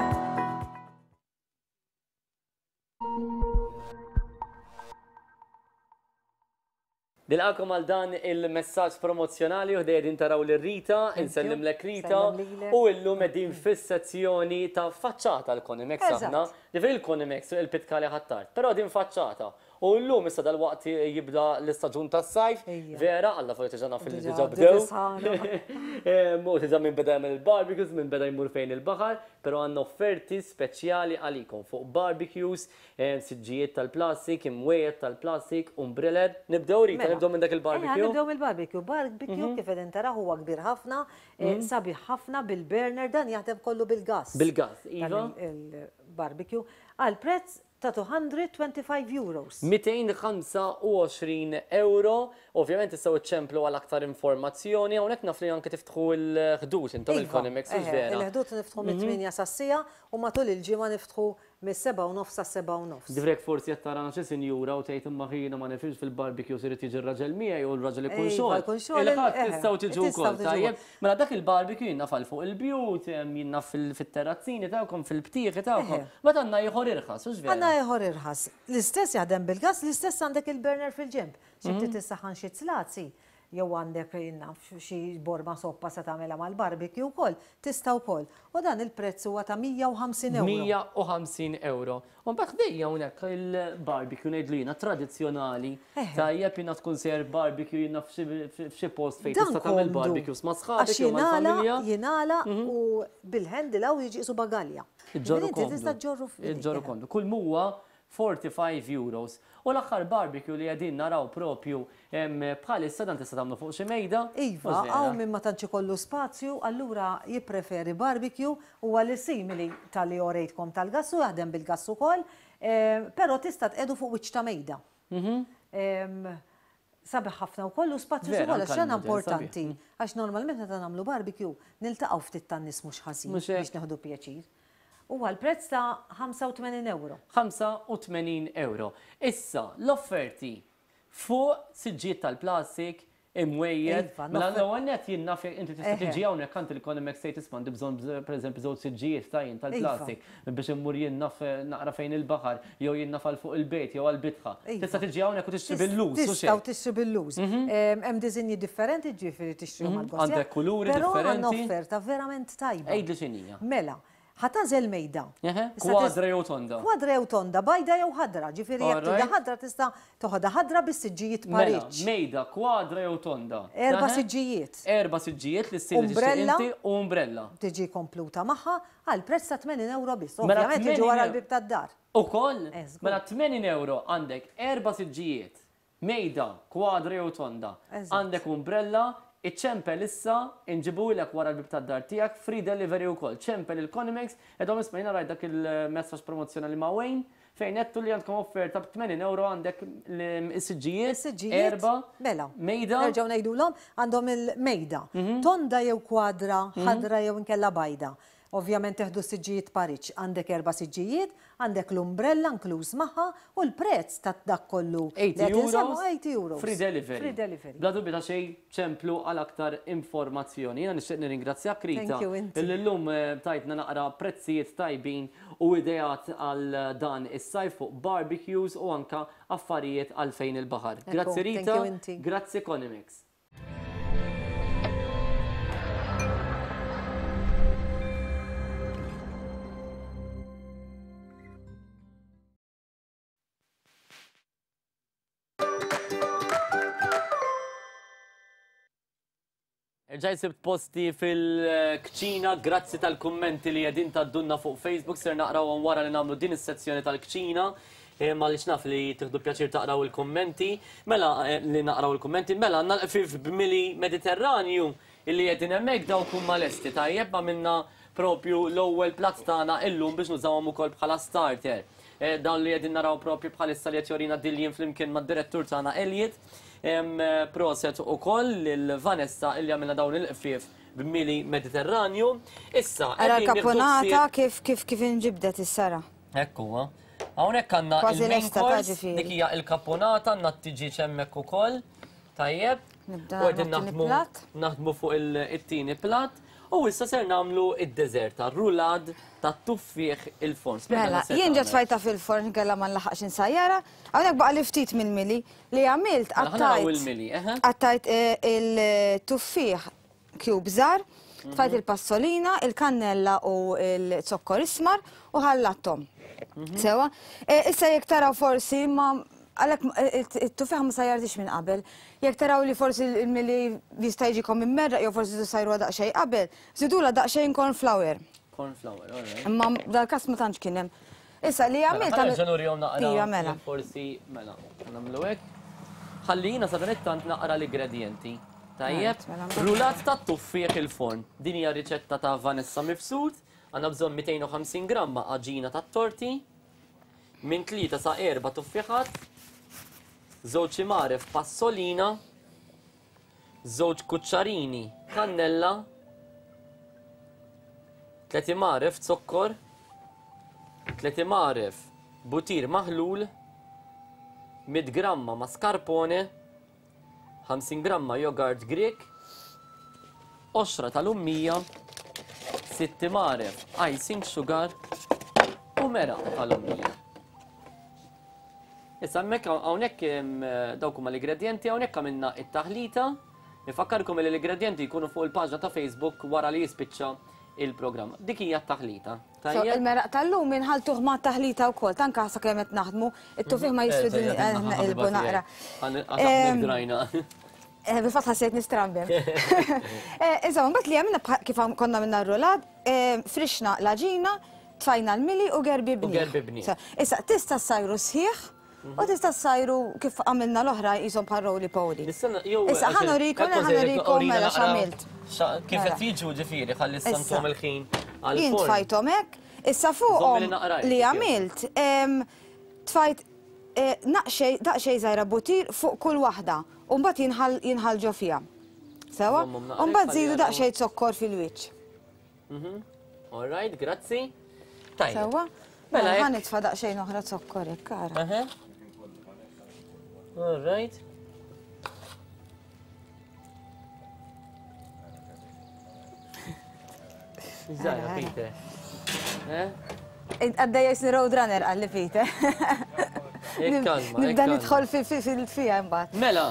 Nilqakom għal dan il-messaġġ promozzjonali u ħdejja taraw lil Rita, insellimlek Rita, u illum qegħdin fis-sezzjoni ta' faċċata l-Conimex aħna. Ġifieri il-Conimex il-Pitkali Ħ'Attard, però din faċċata. U llum issa dal-waqt jibda l-istaġun tas-sajf, vera, Alla fuq diġà naf li diġà bdew. U diġà minn beda jagħmel il-barbecues, minn beda jmur fejn il-baħar, però għandna offerti speċjali għalikom fuq barbecues, siġġijiet tal-plastik, imwejjed tal-plastik, umbreller. Nibdew Rita, nibdew minn dak il-barbecue. Nibdew mill-barbecue. Barbecue kif qegħdin taraw huwa kbir ħafna, sabiħ ħafna bil-burner, dan jaħdem kollu bil-gas. Bil-gas, iva. Il-barbecue għal prezz ta' two hundred twenty-five euros. mitejn u ħamsa u għoxrin euro. Ovvjament tistgħu iċċemplu għal aktar informazzjoni, hawnhekk naf li anke tiftħu l-ħdud intom il-Conimex, hux vera? Il-ħdud niftħu mit-tmienja sas-siegħa u matul il-ġimgħa niftħu mis-seba' u nofs sas-seba' u nofs. Divrek forsi qed tarana xi sinjura u tgħid imma ħina ma nifhimx fil-barbecue irid jiġi r-raġel miegħi u l-raġel ikun xogħol. Il-ħadd tistgħu tiġu wkoll, tajjeb. Mela dak il-barbecue jinnaf għal fuq il-bjut, jinnaf fit-terrazzini tagħkom, fil-btieħi tagħkom. Meta għandna ieħor irħas, hux vera? Għandna ieħor irħas. L-istess jaħdem bil-gas, l-istess għandek il-burner fil-ġenb. Xi ftit tissaħħan xi tzlazi, jew għandek jinnaf xi borma soppa se tagħmilha mal-barbecue wkoll, tista' wkoll. U dan il-prezz huwa ta' mija u ħamsin euro. mija u ħamsin euro. U mbagħad ħdejja hawnhekk il-barbecue ngħidlu jiena tradizzjonali. Tajjeb jiena tkun ser barbecue jiena f'xi post fejn tista' tagħmel barbecues ma' sħabek jew mal-familja. Jingħala u bil-handle hawn jiġi qisu bagalja. Iġġorru komdu. Iġġorru komdu. Kull huwa forty-five euros. U l-aħħar barbecue li qegħdin naraw propju bħalissa dan tista' tagħmlu fuq xi mejda. Iva, hawn min ma tantx ikollu spazju, allura jippreferi barbecue huwa li simili tal-li orejtkom tal-gass u jaħdem bil-gass ukoll, però tista' tqedu fuq wiċċ ta' mejda. Sabiħ ħafna wkoll u spazju ukoll għax xena importanti. Għax normalment meta nagħmlu barbecue niltaqgħu ftit tan-nies mhux ħażin biex nieħdu pjaċir. Huwa l-prezz ta' ħamsa u tmenin euro. ħamsa u tmenin euro. Issa, l-offerti fuq siġġijiet tal-plastik, imwejjed. Mela l-ewwel nett jien naf inti tista' tiġi hawnhekk għand il-Conimex tgħid isma' għandi bżonn pereżempju żewġ siġġijiet ta' jien tal-plastik biex immur jien naf naqra fejn il-baħar jew jien naf għal fuq il-bejt jew għall-bitħa. Tista' tiġi hawnhekk u tixtri bil-lus. Tistgħu tixtri bil-lus. Hemm disinji differenti ġifieri tixtrihom għall-gost. Għandek kuluri differenti. Però għandna offerta verament tajba. Għidli x'inhija. Mela, ħa tagħżel mejda. Kwadra jew tonda. Kwadra jew tonda, bajda jew ħadra, ġifieri jekk tridha ħadra tista' toħodha ħadra bis-siġġijiet pariġġ. Mejda, kwadra jew tonda. Erba' siġġijiet. Erba' siġġijiet li ssir inti u umbrella. Tiġi kompluta magħha għal prezz ta' tmenin euro biss. Ovvjament jiġu wara l-bib tad-dar. Ukoll? Mela tmenin euro għandek erba' siġġijiet, mejda, kwadra jew tonda. Għandek umbrella. Iċċempel issa, inġibulek wara l-bib tad-dar tiegħek, free delivery wkoll. Ċempel il-Conimex, qedhom isma' jiena rajt dak il-messaġġ promozzjonali ma' Wayne, fejn għedtu li għandkom offerta b'tmenin euro għandek is-siġġijiet, erba', mela, mejda. Nerġgħu ngħidulhom għandhom il-mejda, tonda jew kwadra, ħadra jew inkella bajda. Ovvjament teħdu siġġijiet pariġġ, għandek erba' siġġijiet, għandek l-umbrella inkluż magħha u l-prezz ta' dak kollu. eighty euros. eighty euros. Free delivery. Free delivery. Bla dubju ta' xejn ċemplu għal aktar informazzjoni. Jiena nixtieq nirringrazzjak Rita. Illi llum tajtna naqra prezzijiet tajbin u ideat għal dan is-sajf fuq barbecues u anka affarijiet għal fejn il-baħar. Grazzi Rita. Grazzi Conimex. Erġajt sibt posti fil-kċina, grazzi tal-kummenti li qegħdin taddunna fuq Facebook, ser naqrawhom wara li nagħmlu din is-sezzjoni tal-kċina, ma li naf li tieħdu pjaċir taqraw il-kummenti, mela li naqraw il-kummenti, mela għandna l-qfif b'mili Mediterranju illi qegħdin hemmhekk dawk huma lesti, tajjeb ma minna propju l-ewwel platt tagħna illum biex nużawhom ukoll bħala starter. Dawn li qegħdin naraw propju bħalissa li qed jorina Dillian flimkien mad-direttur tagħna Elliot. Proset ukoll lil Vanessa illi għamilna dawn il-qfief b'mili Mediterranju. Issa, ara l-kaponata kif kif kif inġibdet is-sara. Hekk huwa. Hawnhekk għandna il-main course, dik hija l-kaponata, għandna t-tiġieġ hemmhekk ukoll. Tajjeb. U qegħdin naħdmu naħdmu fuq it-tieni platt. U issa ser nagħmlu id-deżerta, rulad tat-tuffieħ il-forn. Mela, jien ġa tfajta fil-forn kellha ma nlaħaqx insajjara, hawnhekk baqa' li ftit mill-mili li għamilt qattajt. Qattajt il-tuffieħ cube żgħar, tfajt il-passolina, il-kannella u l-zokkor ismar u ħallatthom. Sewa, issa jekk taraw forsi ma għalhekk it-tuffieħ ma sajjartix minn qabel. Jekk taraw li forsi il-mili jista' jiġikom immerraq jew forsi tisajruha daqsxejn qabel, żidulha daqsxejn corn flour. Corn flour, all right. Imma dal-każ ma tantx kien hemm. Issa li għamilt għamilt. Nurihom naqra. Mela. Forsi mela, nagħmlu hekk. Ħalli jiena sadanittant naqra l-ingredjenti. Tajjeb, rulat tat-tuffieħ il-forn. Din hija riċetta ta' Vanessa Mifsud. Għandna bżonn mitejn u ħamsin gramma għaġina tat-torti, minn tlieta sa erba' tuffieħat, żewġ imgħaref passolina, żewġ kuċċarini kannella, tliet imgħaref zokkor, tliet imgħaref butir maħlul, mitt gramma mascarpone, ħamsin gramma jogurt Grek, qoxra tal-ummija, sitt imgħaref icing sugar u meraq tal-ummija. Issa hemmhekk hawnhekk dawk huma l-ingredjenti, hawnhekk għamilna it-taħlita. Nifakkarkom li l-ingredjenti jkunu fuq il-paġna ta' Facebook wara li jispiċċa il-programm. Dik hija t-taħlita. Il-meraq tal-lum inħaltuh ma' taħlita wkoll, tanka sakemm qed naħdmu, it-tuffieħ ma jiswidni nqilbu naqra. Drajna. Bil-fatt ħassejt nistrambem. Insomma, mbagħad li għamilna kif konna minna r-rulad, frixna l-għaġina, tfajna l-mili u gerbibni. Issa tista' ssajru sħiħ u tista' ssajru kif għamilna l-oħra qishom bħal roly poly. Issa ħa nurikom, ħa nurikom mela x'għamilt. Kif qed jiġu ġifieri ħalli ssantom il-ħin għall-forn. Jien tfajthom hekk, issa fuqhom li għamilt tfajt daqsxejn żgħira butir fuq kull waħda u mbagħad jinħall ġo fiha. Sewa? U mbagħad żidu daqsxejn zokkor fil-wiċċ. All right, grazzi. Tajjeb. Sewa? Mela ħa nitfa' daqsxejn oħra zokkor hekk ara. All right. Zaħra, Peter. Għaddejja jisni roadrunner għalli Peter. Nibda nidħol fil-fija mbagħad. Mela,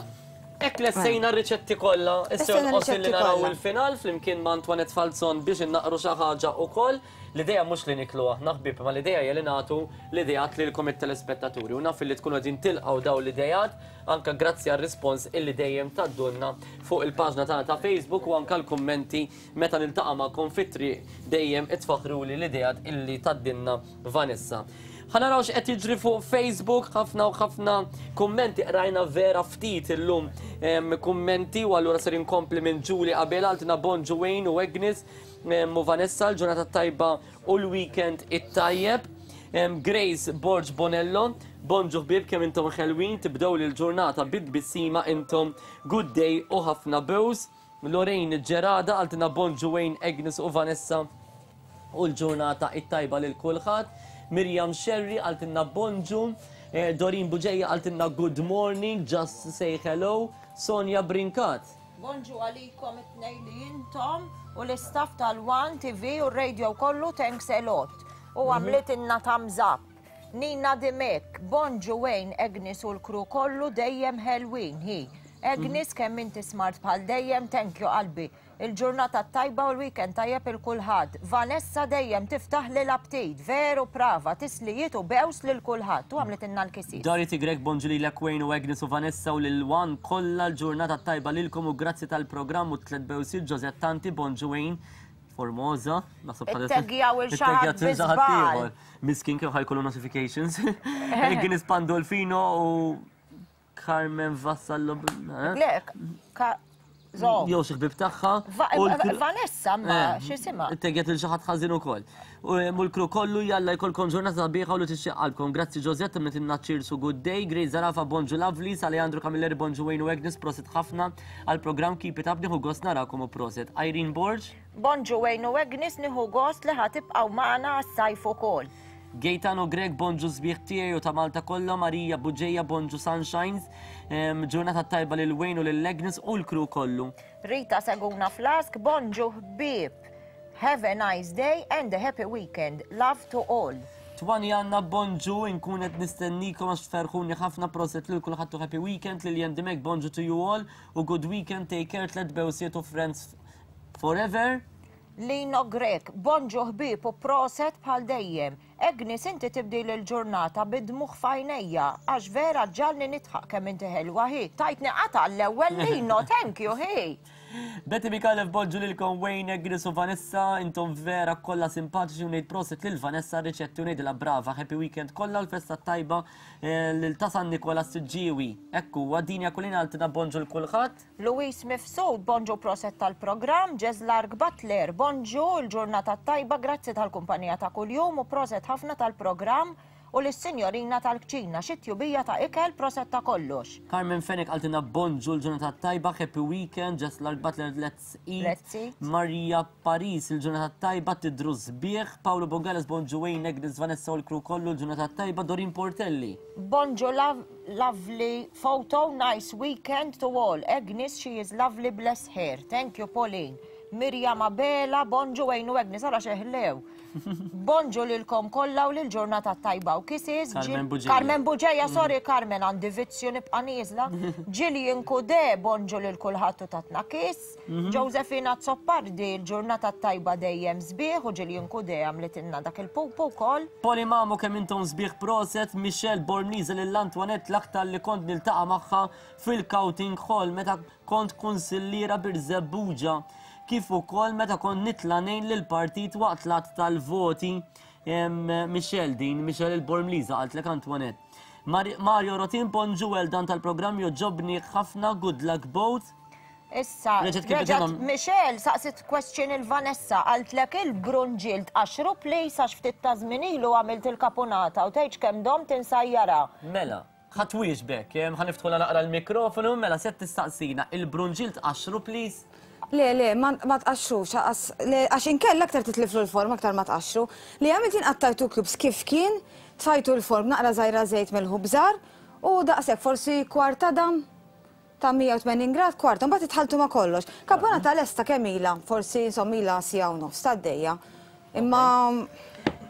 hekk lessejna r-riċetti kollha, issa jonqos li naraw il-final flimkien ma' Antoinette Falzon biex innaqru xi ħaġa wkoll. L-idea mhux li niklu aħna ħbieb, ma l-idea hija li nagħtu l-ideat lilkom it-telespettaturi. U naf li tkunu qegħdin tilqgħu dawn l-ideat anke grazzi għar-rispons illi dejjem tgħaddulna fuq il-paġna tagħna ta' Facebook u anke l-kummenti meta niltaqa' magħkom fit-triq dejjem itfaħruli l-ideat illi tgħaddilna Vanessa. Ħa naraw x'qed jiġri fuq Facebook, ħafna u ħafna kummenti qrajna vera ftit illum kummenti u allura ser inkompli minn Julie Abela għaltina Bonġu Wayne u Agnes u Vanessa l-ġurnata tajba u l-weekend it-tajjeb. Grace Borg Bonello, bonġu ħbieb kemm intom ħelwin, tibdew l-ġurnata bid-tbissima intom good day u ħafna bews. Lorraine Gerada għaltina Bonġu Wayne, Agnes u Vanessa u l-ġurnata it-tajba lil kulħadd. Miriam Sherry għaltinna bonġu, Doreen Buġeja għaltinna good morning, just say hello, Sonja Brinkat. Bonġu għalikom it-tnejn li intom u l-istaff tal-One T V u r-radio kollu, thanks a lot. U għamlitinna thumbs up. Nina Dimek, bonġu Wayne, Agnes u l-kru kollu dejjem ħelwin, hi. Agnes kemm inti smart bħal dejjem, thank you qalbi. Il-ġurnata tajba u l-weekend tajjeb il-kulħadd. Vanessa dejjem tiftaħ li l-aptit, veru prava, tislijiet u bews lil kulħadd. U għamlet inna l-kisis. Dorothy Grek, bonġu lilek Wayne u Agnes u Vanessa u lil One kollha l-ġurnata tajba lilkom u grazzi tal-programm u tliet bewsiet Josette Tanti, bonġu Wayne. Formosa, naħseb bħal Itteggjaw il-xaħat biżbal. Miskin kif ħajkollu notifications. Agnes Pandolfino u Carmen Vassallo. Le, Jew xi ħbieb tagħha. Vanessa ma x'isimha. Itteggjet il xi ħadd ħażin ukoll. U l-kru kollu jalla jkollkom ġurnata sabiħa u li tixtieq qalbkom. Grazzi Josette metinna cheers u good day. Grace Zarafa, bonġu lovely, Alejandro Camilleri, bonġu Wayne u Agnes, prosit ħafna għall-programm Keep It Up, nieħu gost narakom u prosit. Irene Borg. Bonġu Wayne u Agnes, nieħu gost li ħatibqgħu magħna għas-sajf ukoll. Gaetano Grek, bonġu sbieħ tiegħi u ta' Malta kollha, Marija Buġeja, bonġu Sunshines, ġurnata tajba lil Wayne u lil Agnes u l-kru kollu. Rita Seguna Flask, bonġu ħbieb. Have a nice day and a happy weekend. Love to all. Twani għanna bonġu, inkun qed nistennikom għax tferħuni ħafna proset lil kulħadd u happy weekend lil Dimek bonġu to you all u good weekend, take care, tlet bewsiet u friends forever. Lino Grek, bonġu ħbieb u proset bħal dejjem. Agnes, inti tibdil il-ġurnata bid-dmugħ f'għajnejja, għax vera ġalni nidħaq kemm inti ħelwa hi. Tajtni qata l-ewwel Lino, thank you, hi. Betty Mikalev bonġu lilkom Wayne, Agnes u Vanessa, intom vera kollha simpatiċi u ngħid proset lil Vanessa riċetti u ngħidilha brava, happy weekend kollha l-festa tajba eh, lil ta' San Nikola Siġġiewi. Ekku, għadini kulina għaltina bonġu l kulħadd. Luis Mifsud, bonġu proset tal-programm, Ġezlark Butler, bonġu l-ġurnata tajba, grazzi tal-kumpanija ta' kuljum u proset ħafna tal-programm u l-sinjorina tal-kċina, xi tjubija ta' ikel proset ta' kollox. Carmen Fenech għaltina bonġu l-ġurnata tajba, happy weekend, Ġezlark Butler, let's eat. Let's eat. Maria Paris, il-ġurnata tajba, tidru sbieħ, Paolo Bogales, bonġu Wayne, Agnes, Vanessa u l-crew kollu, l-ġurnata tajba, Dorin Portelli. Bonġu love, lovely photo, nice weekend to all. Agnes, she is lovely, bless her. Thank you, Pauline. Mirjam Abela, bonġu Wayne u Agnes, ara xeħlew. Bonġu lilkom kollha u lil-ġurnata tajba u kisses. Carmen Buġeja. Carmen Buġeja, sorry Carmen, għandi vizzju nibqa' nieżla. Gillian Kude, bonġu lil kulħadd u tatna kiss. Mhm. Josephina Zoppardi, l-ġurnata tajba dejjem sbieħ u Gillian Kude għamlitilna dak il-pupu wkoll. Poli Mamu kemm intom sbieħ proset, Michelle Bormliza lil Antoinette l-aktar li kont niltaqa' magħha fil-Counting Hall meta kont kunsilliera Birżebbuġa, kif ukoll meta kont nitla' ngħin lill-partit waqt l-att tal-voti. Em, Michelle din, Michelle il-Bormliza qaltlek Antoinette. Mar- Mario Rotin bonġu well dan tal-programm joġobni ħafna, good luck both. Issa, Reġgħet kif reġgħet bitilhom- Michelle saqsit question il-Vanessa, qaltlek il-brunġil tqaxru please għax ftit ta' żmien ilu għamilt il-kapunata u tgħidx kemm dom tinsajjara. Mela, ħa twieġbek, em, ħa niftħula naqra l-mikrofonu, mela se tistaqsina, il-brunġil tqaxru please? Le, le, ma ma tqaxxrux, għas- le, għax inkella aktar titliflu l-forma aktar ma tqaxxru. Li għamilt jien qattajtu cubes kif kien, tfajtu l-form naqra żgħira żejt mill-ħubżar u daqshekk forsi kwarta dam ta' mija u tmenin grad, kwarta, mbagħad itħaltu ma' kollox. Kapunata lesta kemm ilha, forsi insomma ilha siegħa u nofs tad-dejja. Imma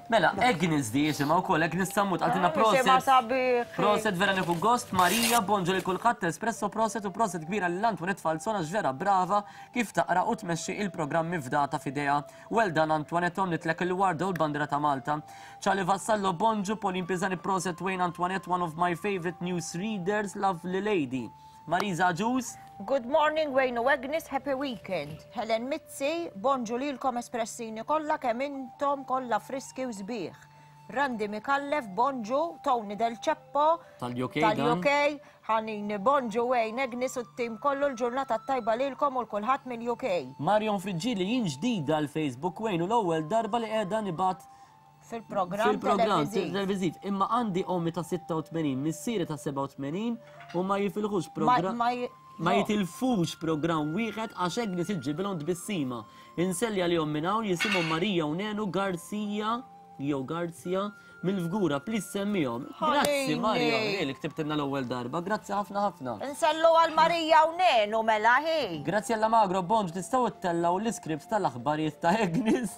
Mela, Agnes di jisimha wkoll, Agnes Sammut għaltina Jisimha proset. sabiħ. Proset vera nieħu gost, Marija, bonġu li kulħadd, espresso proset u proset kbira lil Antoinette Falzona ġvera brava kif taqra u tmexxi il-programmi fdata f'idea. Well done Antoinette, nitlek il-warda u l-bandira ta' Malta. Charlie Vassallo, bonġu, Pauline Pisani, proset Wayne Antoinette, one of my favorite news readers, lovely lady. Marisa Ġus. Good morning Wayne u Agnes, happy weekend. Helen Mizzi, bonġu lilkom espressini kollha kemm intom kollha friski u sbieħ. Randi Mikallef, bonġu, Tony Del Ceppo, Tal-U K dan. Tal-U K, ħanini bonġu Wayne, Agnes u t-tim kollu l-ġurnata tajba lilkom u l-kulħadd mill-U K. Marion Frigili, jien ġdida l-Facebook Wayne u l-ewwel darba li qiegħda nibgħat fil-programm fil-programm televiżiv. televiżiv. Imma għandi ommi ta' sitta u tmenin, missieri ta' sebgħa u tmenin u ma jifilħux Ma- programm. ma j- Ma no. jitilfux programm wieħed għax Agnes iġġibilhom tbissima. Inselli għalihom minn hawn jisimhom Marija u Nenu Garcia jew Garzia mill-Fgura, please semmihom. Grazzi Ħanini. Mario, li ktibtilna l-ewwel darba. Grazzi ħafna ħafna. Nsellu għal Marija u Nenu mela hi. Grazzi għalla Magro, bonġ, tistgħu ttellgħu l-iskript tal-aħbarijiet ta' Agnes.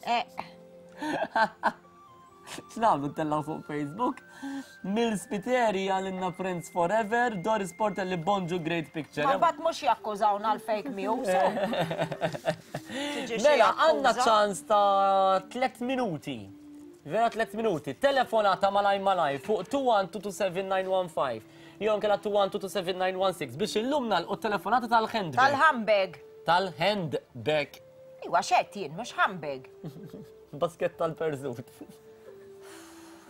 Eh, X'nagħmlu ttellgħu fuq Facebook? Mil Spiteri għalinna Friends Forever, Doris Portelli bonġu great picture. Ma mbagħad mhux jakkużawna l-fake news. Tiġi xi Mela, għandna akkuża. ċans ta' tliet minuti. Vera tliet minuti. Telefonata malaj malaj fuq two one two two seven nine one five. Jew nkella two one two two seven nine one six biex illum nagħlqu telefonata tal-handbag. Tal-handbag. Tal-handbag. Iwa xed jien, mhux handbag. Basket tal-perżut.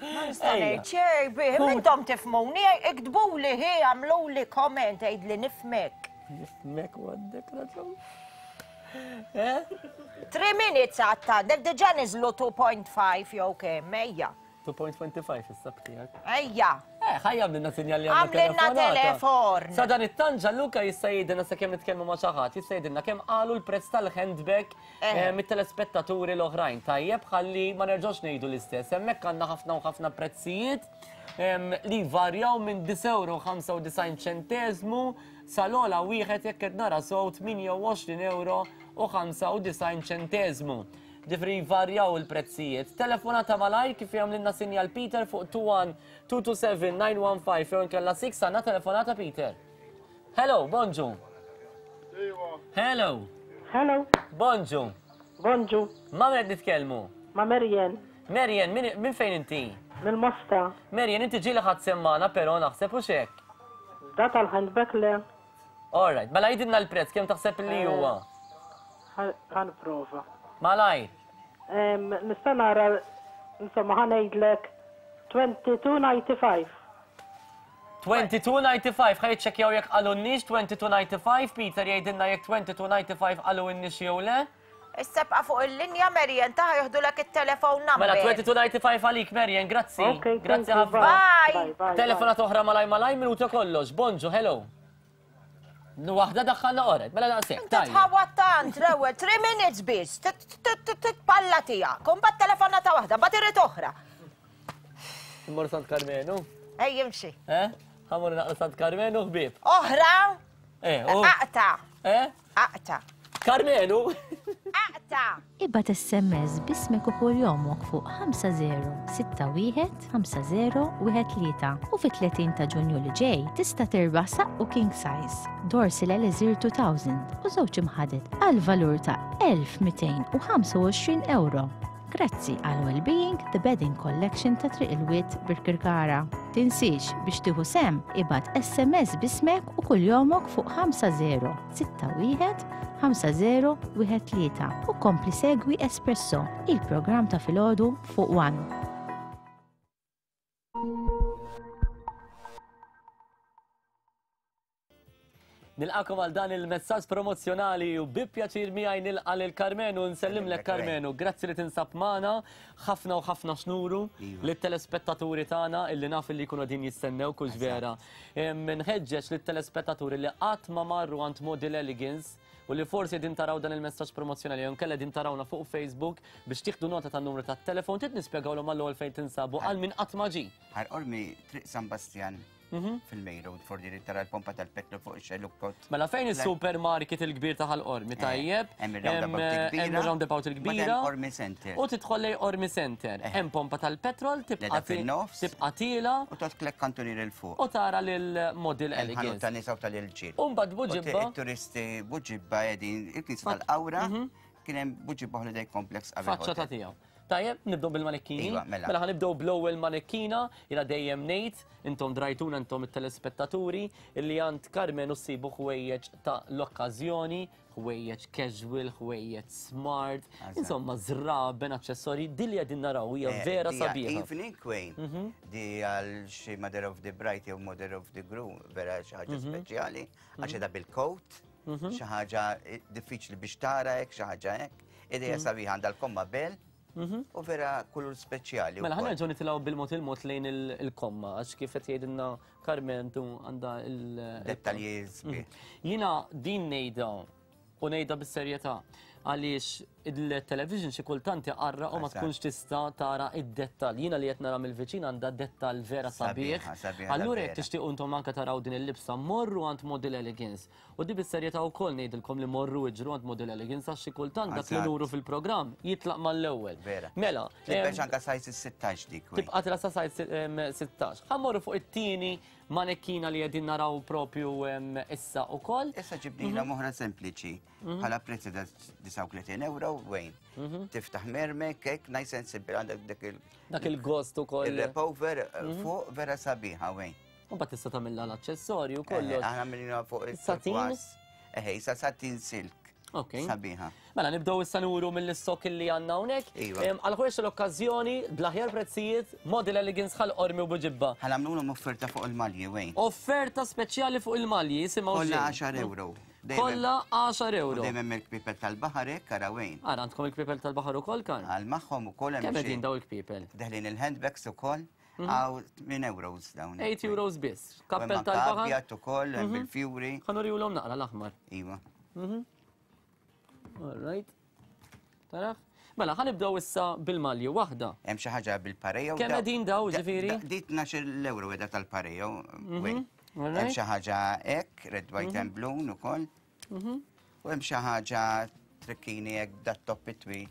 Ma nista' Ejja. ngħid xejn bih, intom tifhmuni, iktbuli hi, għamluli comment għid li nifhmek. Nifhmek u għandek raġun. Eh? Three minutes għatta, għandek diġà niżlu two point five jew kemm, ejja. two point two five issa btijak. Ejja. Eh, ħajja għamlilna sinjal li għandna Għamlilna telefonata. telefon. Sa dan it-tanġa Luka jista' jgħidilna sa kemm nitkellmu ma' xi ħadd, jista' jgħidilna kemm qalu l-prezz tal-handbag Eh. eh, mit-telespettaturi l-oħrajn. Tajjeb ħalli ma nerġgħux ngħidu l-istess. Hemmhekk għandna ħafna u ħafna prezzijiet em, li varjaw minn disgħa euro ħamsa u disgħin ċentesmu sal-ogħla wieħed jekk qed nara sew tmienja u għoxrin euro u ħamsa u disgħin ċenteżmu. Ġifieri jvarjaw il-prezzijiet. Telefonata malajr kif jagħmlilna sinjal Peter fuq two one two two seven nine one five jew inkella six għandna telefonata Peter. Hello, bonġu. Hello. Hello. Bonġu. Bonġu. Ma' min qed nitkellmu? Ma' Marian. Marian, minn fejn inti? Mill-Mosta. Marian, inti ġieli ħadd semmana però naħseb u xek. Da tal-handbag le. All right, mela jidilna l-prezz kemm taħseb li huwa? Ħanprova. Malajr. Nista' nara, insomma, ħanejdlek twenty-two ninety-five. twenty-two ninety-five, ħaj jiċċekkjaw jekk qalunniex twenty-two ninety-five, Peter jgħidilna jekk twenty-two ninety-five qalunniex jew le. Issa bqa' fuq il-linja Marian, taħ joħdulek it-telefon number. Mela twenty-two ninety-five għalik Marian, grazzi. Okay, grazzi ħafna. Bye. Bye. Telefonat oħra malaj malaj minuta kollox. Bonġu, hello. Waħda daħħalna oret, mela daqshekk. Inti tħawwad tant l-ewwel three minutes biss, titpalla tiegħek, u mbagħad telefonata waħda, mbagħad irid oħra. Immur Sant Karmenu. Ej, imxi. Eh? Ħamur naqra Sant Karmenu ħbieb. Oħra? Eh, u. Aqta. Eh? Aqta. Karmenu. Aqta. Ibgħat S M S bismek u kuljomok fuq ħamsa zero sitta wieħed ħamsa zero wieħed tlieta u fit-tletin ta' Ġunju li ġej tista' tirbaħ saqqu king size, Dorsil Elixir two thousand u żewġ imħadet għal valur ta' elf mitejn u ħamsa u għoxrin euro. Grazzi għal Wellbeing The Bedding Collection ta' Triq il-Wied Birkirkara. Tinsiex biex tieħu sem ibgħat S M S bismek u kuljomok fuq ħamsa zero sitta wieħed ħamsa zero wieħed tlieta u kompli segwi Espresso, il-programm ta' filgħodu fuq One. Nilqakom għal dan il-messaġġ promozzjonali u bi pjaċir miegħi nilqa' lil Karmenu, nsellimlek Karmenu, grazzi li tinsab magħna, ħafna u ħafna xnuru lit-telespettaturi tagħna illi naf li jkunu qegħdin jistennew kux vera. Nħeġġeġ lit-telespettaturi li qatt ma marru għand Model Elegance u li forsi qegħdin taraw dan il-messaġġ promozzjonali jew inkella qegħdin tarawna fuq Facebook biex tieħdu nota tan-numru tat-telefon, trid nispjegawlhom għall-ewwel fejn tinsabu għal min qatt ma ġie. Ħal Qormi Triq San Bastjan. Fil-Main Road, fordi li tara l-pompa tal-petrol fuq ix-xelluk. Mela fejn is-supermarket il-kbir ta' Ħal Qormi, tajjeb? Hemm ir-roundabout il-kbira. Hemm ir-roundabout il-kbira. Hemm Qormi Center. U tidħol lejn Qormi Center. Hemm pompa tal-petrol, tibqa' tibqa' tiela. U tot klek kantunier il fuq. U tara lil Model Elegance. Ħanut tan-nisa u tal-irġiel. U mbagħad Buġibba. It-turisti Buġibba qegħdin il-knisja tal-Qawra, kien hemm Buġibba Holiday Complex qabel. Faċċata tiegħu. Tajjeb, nibdew bil-manekkini. Iva, mela. Mela ħanibdew bl-ewwel manekkina, jiena dejjem ngħid, intom drajtuna intom it-telespettaturi, illi għand Karmenu ssibu ħwejjeġ ta' l-okkażjoni, ħwejjeġ casual, ħwejjeġ smart, Eżatt. insomma żraben, aċċessorji, din li qegħdin naraw hija Eh, vera di sabiħa. Evening Queen, Mhm. di għal xi Mother of the Bride jew Mother of the Groom, vera xi ħaġa Mhm. speċjali, għax Mhm. qiegħda bil-coat, Mhm. xi ħaġa diffiċli biex tara hekk, xi ħaġa hekk, idea Mhm. sabiħa għandha l-komma bell. Mhm. U vera kulur speċjali Mela wkoll. ħa nerġgħu nitilgħu bil-mod il-mod lejn il-, il-komma, għax kif qed jgħidilna Carmen tu għandha il- Dettalji sbieħ. Mhm. Jiena din ngħidha u ngħidha bis-serjetà għaliex il-television xi kultant iqarra u ma Eżatt. tkunx tista' tara id-dettall. Jiena li qed nara mill-viċin għandha dettall vera sabiħ. Sabiħa, sabiħa Allura jekk vera. tixtiequ intom anke taraw din il-libsa, morru għand Model Elegance. U di bis-serjetà wkoll ngħidilkom li morru iġru għand Model Elegance għax xi kultant dak li Eżatt. nuru fil-programm jitlaq mal-ewwel. Vera. Mela, Tibbex em, anke size sittax dik. wi. Tibqa' tila sa size, em, sittax. Ħa mmorru fuq it-tieni manekkina li qegħdin naraw propju, em, issa wkoll. Issa ġibnila Mhm. moħra sempliċi. Mhm. Bħala prezz ta' disgħa u tletin euro, wejn. Mhm. Tiftaħ mermek, hekk, nice and simple, għandek dak il- Dak il-gost ukoll. Il-repover eh, Mhm. fuq vera sabiħa, wejn. U mbagħad tista' tagħmilha l-aċċessorju Eh, kollox. Aħna għamilna fuq Satin? il-turquoise. Eħe, issa satin silk. Ok. Sabiħa. Mela nibdew issa nuru mill-istok li għandna hawnhekk. Iva. Em, Għal ħwejjeġ l-okkażjoni, bl-aħjar prezzijiet, Model Elegance Ħal Qormi u Buġibba. Ħa nagħmluhom offerta fuq il-malji, wejn. Offerta speċjali fuq il-malji, jisimgħu Kollha xejn. għaxar euro. Dejjem- Kollha għaxar euro. U dejjem hemm il-kpipel tal-baħar hekk, ara wejn. Ara għandkom il-kpipel tal-baħar ukoll kan? Għal magħhom ukoll hemm Kemm xi- qegħdin daw il-kpipel? Deħlin il-handbags ukoll, Mhm. għaw tmien euros dawn. eight euros biss. U hemm Kappell anke tal-baħar. abjad ukoll, hemm Mhm. bil-fjuri. Ħa nurihulhom naqra l-aħmar. Iva. Mhm. All right. Tarax? Mela, ħa nibdew issa bil-malji waħda. Hemm xi ħaġa bil-parejo. Kemm qegħdin daw, ġifieri? Di tnax-il euro qiegħda tal-parejo. Mhm. wejn. All Hemm right. xi ħaġa hekk, red, white Mhm. and blue ukoll. Mhm. U hemm xi ħaġa trikkini hekk dat-top twil.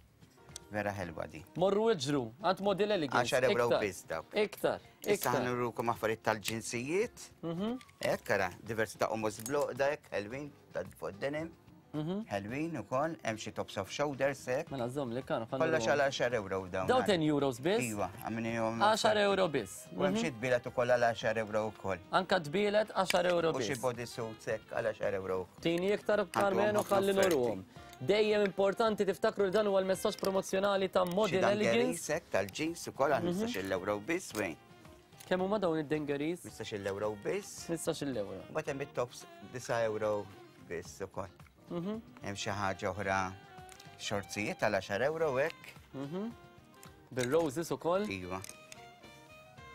Vera ħelwa di. Morru iġru, għand Model Elegance. għaxar euro Iktar. biss dawk. Iktar, Issa iktar. ħa nurukom affarijiet tal-ġinsijiet. Mhm. Hekk ara, diversi ta' qomos bloqda hekk ħelwin ta' fuq denim. Ħelwin ukoll, hemm xi tops off shoulders hekk. Mela żomm li kanu Kollox għal għaxar euro dawn. Daw ten euros biss? Iva, għamilnihom. għaxar euro biss. U hemm xi tbielet ukoll għal għaxar euro wkoll. Anka tbielet għaxar euro U xi biss. body suits hekk għal għaxar euro wkoll. Tini iktar Karmenu ħafna ħalli offerti. nuruhom. Dejjem importanti tiftakru li dan huwa l-messaġġ promozzjonali ta' Xi Model dungarees Elegance. hekk tal-jeans ukoll għal Mhm. ħmistax-il euro biss wejn. Kemm huma dawn id-dungarees? ħmistax-il euro biss. ħmistax-il euro. Mbagħad hemm it-tops disa' euro biss ukoll. Mhm. Hemm xi ħaġa oħra xorzijiet għal għaxar euro hekk. Mhm. Bir-roses ukoll? Iva.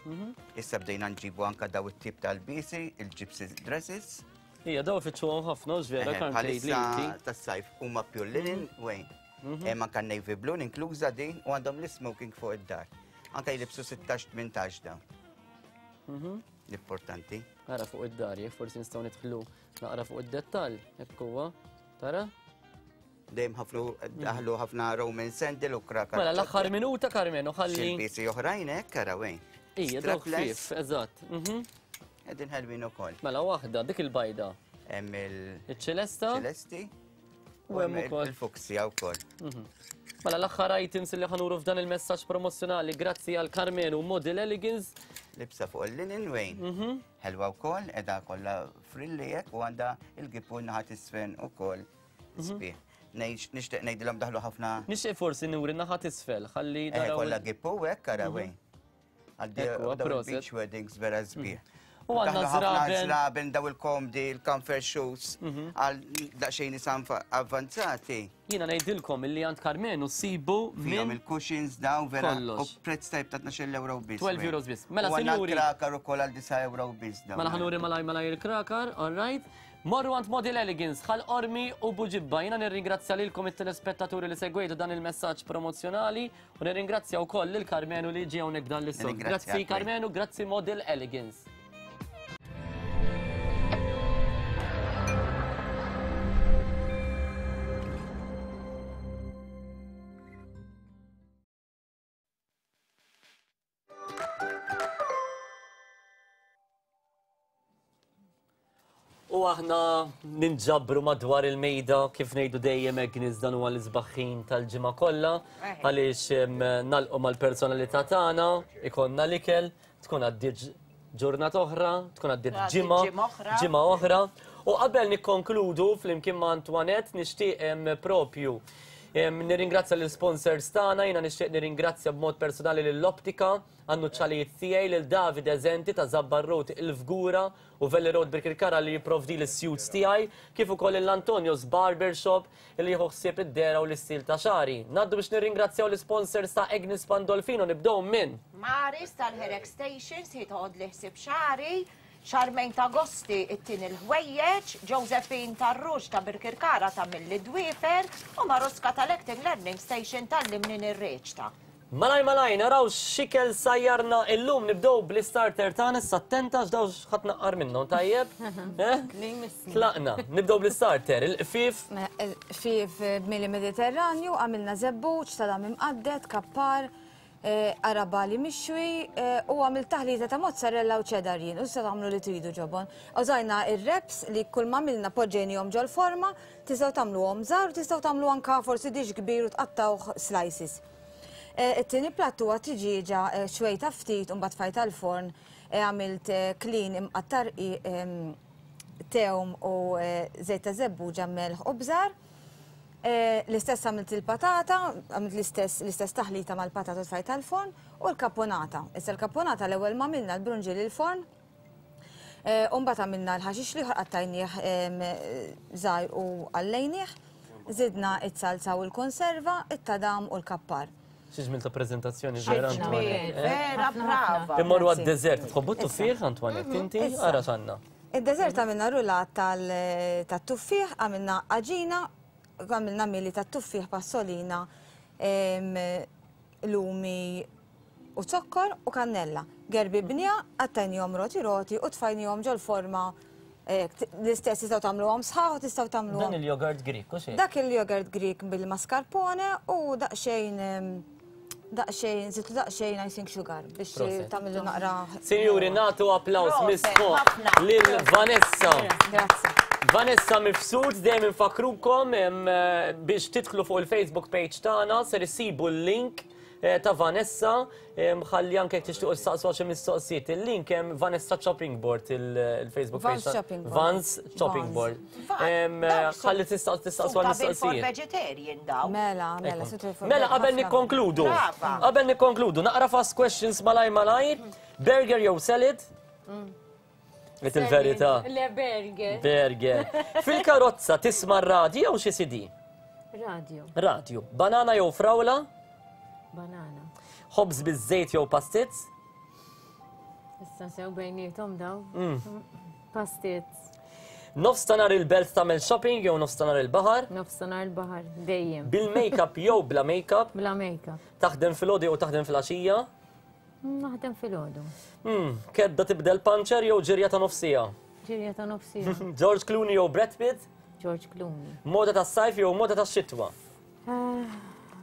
Mhm. Issa bdejna nġibu anka daw it-tip tal-bisi, il-gypsy dresses. Ija, daw ifittxuhom ħafna, hux vera, Eħe, Karm tgħid li Bħalissa inti. tas-sajf huma pure linen, wejn. Mhm. Hemm anka navy blue inkluża din u għandhom l-smoking fuq id-dar. Anka jilibsu sittax tmintax dawn. Mhm. L-importanti. Ara fuq id-dar, jekk forsi nistgħu nidħlu naqra fuq id-dettall, hekk huwa. Tara? Dejjem ħafnu daħlu ħafna Roman sandal u krakar. Mela l-aħħar minuta Karmenu ħalli. Xi oħrajn hekk ara wejn. Ija, daw Strapless. ħfief, eżatt. Mhm. Qegħdin ħelwin ukoll. Mela waħda, dik il-bajda. Hemm il- Iċ-ċelesta. ċelesti. U hemm ukoll. Il-fuksja wkoll. Mhm. Mela l-aħħar items li ħa nuru f'dan il-messaġġ promozzjonali grazzi għal Karmenu Model Elegance. Libsa fuq il-linen wejn. Mhm. Ħelwa wkoll, qiegħda kollha frilli hekk u għandha il-gipu naħa t'isfel ukoll sbieħ. Ngħix- Nixtieq ngħidilhom daħlu ħafna Nixtieq forsi nuri naħa t'isfel, ħalli Eh, naraw. kollha gipu hekk ara Mhm. wejn. Għal Ekku, daw proset. il-beach weddings vera sbieħ. U għandna Daħlu ħafna żraben. żraben daw il-komdi, il-comfort shoes, għal daqsxejn nies avvanzati. Jiena ngħidilkom illi għand Karmenu ssibu Fihom minn il-cushions daw vera u kollox. prezz tajb ta' tnax-il euro biss. twelve euros biss. Mela, U għandna sinjuri. l-krakar ukoll għal disa' euro biss daw. Mela ħa nuri malaj malaj il-krakar, all right. Morru għand Model Elegance, Ħal Qormi u Buġibba. Jiena nirringrazzja lilkom it-telespettaturi li segwejtu dan il-messaġġ promozzjonali u nirringrazzja wkoll lil Karmenu li ġie hawnhekk dan l-istudju. Nirringrazzjak, Grazzi Karmenu, grazzi Model Elegance. U aħna ninġabru madwar il-mejda kif ngħidu dejjem Agnes dan huwa l-isbaħħin tal-ġimgħa kollha għaliex em, nalqu mal-personalità tagħna, ikollna l-ikel, tkun għaddiet ġurnata oħra, tkun għaddiet Għaddiet ġimgħa, ġimgħa oħra. ġimgħa oħra. U qabel nikkonkludu flimkien ma' Antoinette nixtieq em, propju em, nirringrazzja l-sponsors tagħna, jiena nixtieq nirringrazzja b'mod personali lill-Optika, għan-nuċċalijiet tiegħi lil David Eżenti ta' Zabbar Road il-Fgura u Valley Road Birkirkara li jipprovdi l-suits tiegħi, kif ukoll l-Antonio's Barbershop li jieħu ħsieb id-dera u l-istil ta' xari. Ngħaddu biex nirringrazzjaw l-sponsors ta' Agnes Pandolfino, nibdew minn Maris tal-Hair Extensions, hi toħod li ħsieb xari, Charmaine ta' Gosti it-tin il-ħwejjeġ, Josephine tar-Rux ta' Birkirkara ta' Milli Dwifer u Maruska tal-Acting Learning Station tal-Limnin ir-Reċta. Malaj malaj, naraw x'ikel sajjarna illum, nibdew bl-starter tagħna, issa attenta x'daw x'ħadd naqqar minnhom, tajjeb? Eh? Tlaqna, nibdew bl-starter, il-qfif. Qfif b'mili Mediterranju, għamilna żebbuġ, salam imqadded, kappar, eh, arabali mixwi eh, u għamil taħlita ta' mozzarella u cheddar jien, u sa tagħmlu li tridu ġobon. Użajna ir-wraps li kull ma għamilna poġġejnihom ġol-forma, tistgħu tagħmluhom żgħar, tistgħu tagħmlu anka forsi dish kbir u tqattawh slices. Eh, It-tieni platt huwa tiġieġa eh, xwejta ftit u mbagħad tfajta l-forn, eh, għamilt eh, klin imqattar i- em, tewm u eh, żejt ta' żebbuġa, melħ u bżar. Eh, L-istess għamilt il-patata, għamilt l-istess l-istess taħlita mal-patata u tfajta l-forn u l-kaponata. Issa l-kaponata l-ewwel ma għamilna l-brunġiel il-forn, eh, u mbagħad għamilna l-ħaxix li qattajnieh em, żgħir u għallejnieh, żidna it-salsa u l-konserva, it-tadam u l-kappar. Xi ġmil ta' preżentazzjoni vera Antoinette. eh? Vera brava. Immorru għad-dessert, tħobbu t-tuffieħ Antoinette, inti Issa. ara x'għandna. Id-dessert għamilna rulat tal- tat-tuffieħ, għamilna għaġina, għamilna mili tat-tuffieħ passolina, em, lumi u zokkor u kannella. Gerbi bnija, għattajnijom roti roti u tfajnijom ġol forma L-istess tistgħu tagħmluhom sħaħ u tistgħu tagħmluhom. Dan il-jogurt Greek, u xejn? Dak il-jogurt Greek bil-mascarpone u daqsxejn daqsxejn, zittu daqsxejn icing sugar biex tagħmlu naqra. Sinjuri, nagħtu applaws misfuq lil Vanessa. Grazzi. Vanessa Mifsud, dejjem infakrukom biex tidħlu fuq il-Facebook page tagħna ser issibu l-link ta' Vanessa, ħalli anke jekk tixtiequ tistaqsu xi mistoqsijiet. Il-link hemm Vanessa Chopping Board il-Facebook page. Vans Chopping Board. Vans Chopping Board. Ħalli tistaqsu għal mistoqsijiet. Vegetarian daw. Mela, mela, Mela, qabel nikkonkludu. Qabel nikkonkludu, naqra fast questions malaj malajr. Burger jew salad? Għet il-verità. Le burger. Burger. Fil-karozza tisma' radio jew xi C D? Radio. Radio. Banana jew frawla? Banana. Ħobż biż-żejt jew pastizz? Issa sew bejnietom daw. Pastizz. Nofs ta' nhar il-belt tagħmel shopping jew nofs ta' nhar il-baħar? Nofs ta' nhar il-baħar, dejjem. Bil-makeup jew bla makeup? Bla makeup. Taħdem filgħodu jew taħdem filgħaxija? Naħdem filgħodu. Kedda tibdel panċer jew ġirja ta' nofsija? Ġirja ta' nofsija. George Clooney jew Brad Pitt? George Clooney. Moda tas-sajf jew moda tax-xitwa?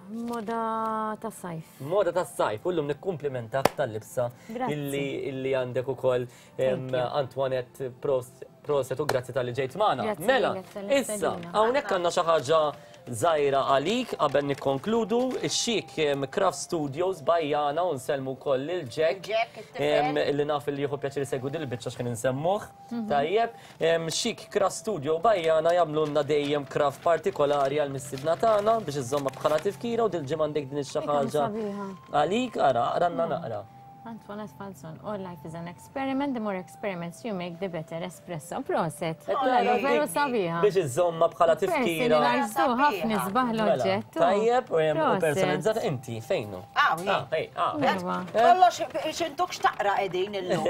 Moda tas-sajf. Moda tas-sajf. U llum nikkumplimentak tal-libsa illi għandek ukoll Antoinette proset u grazzi tal-li ġejt magħna. Mela, issa, hawnhekk għandna xi ħaġa żgħira għalik qabel nikkonkludu, ix-Chic Craft Studios bajjana u nsellmu wkoll lil Jack li naf li jieħu pjaċir isegwu dil-biċċa x'kien insemmuh. Tajjeb, Chic Craft Studio bajjana jagħmlulna dejjem craft partikolari għal mistiedna tagħna biex iżomma bħala tifkira u dil-ġimgħa għandek din xi ħaġa għalik, ara, aqranna naqra. Antoinette Falzon, all life is an experiment, the more experiments you make, the better espresso. Proset. Veru sabiħa. Biex iżomma bħala tifkira. Ħafna sbaħ l-oġġett. Tajjeb, u personalizzata inti, fejnu? Ah, Kollox, xintuk xtaqra qegħdin illum.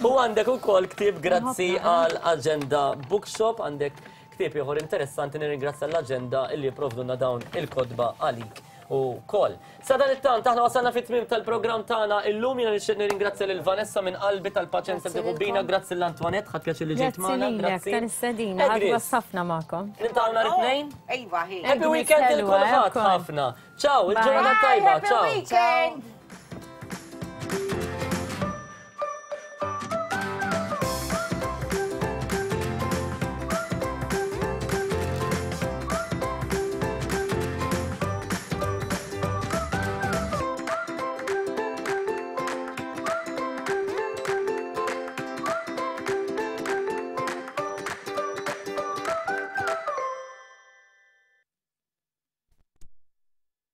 U għandek ukoll ktieb grazzi għal Agenda Bookshop, għandek ktieb ieħor interessanti, nirringrazzja l-Agenda illi jipprovduna dawn il-kotba għalik u kol. Sa dan it-tant, aħna wasalna fit-tmiem tal-programm tagħna illum. Jiena nixtieq nirringrazzja lil Vanessa minn qalbi tal-paċenza li tieħu bina, grazzi lil Antoinette, ħadd pjaċir li ġejt magħna. Grazzi tal-istedina, ħadd ħafna magħkom. Niltaqgħu nhar it-tnejn? Ejwa, hi. Happy weekend lil kulħadd ħafna. Ciao, il-ġurnata tajba, ciao. Happy weekend.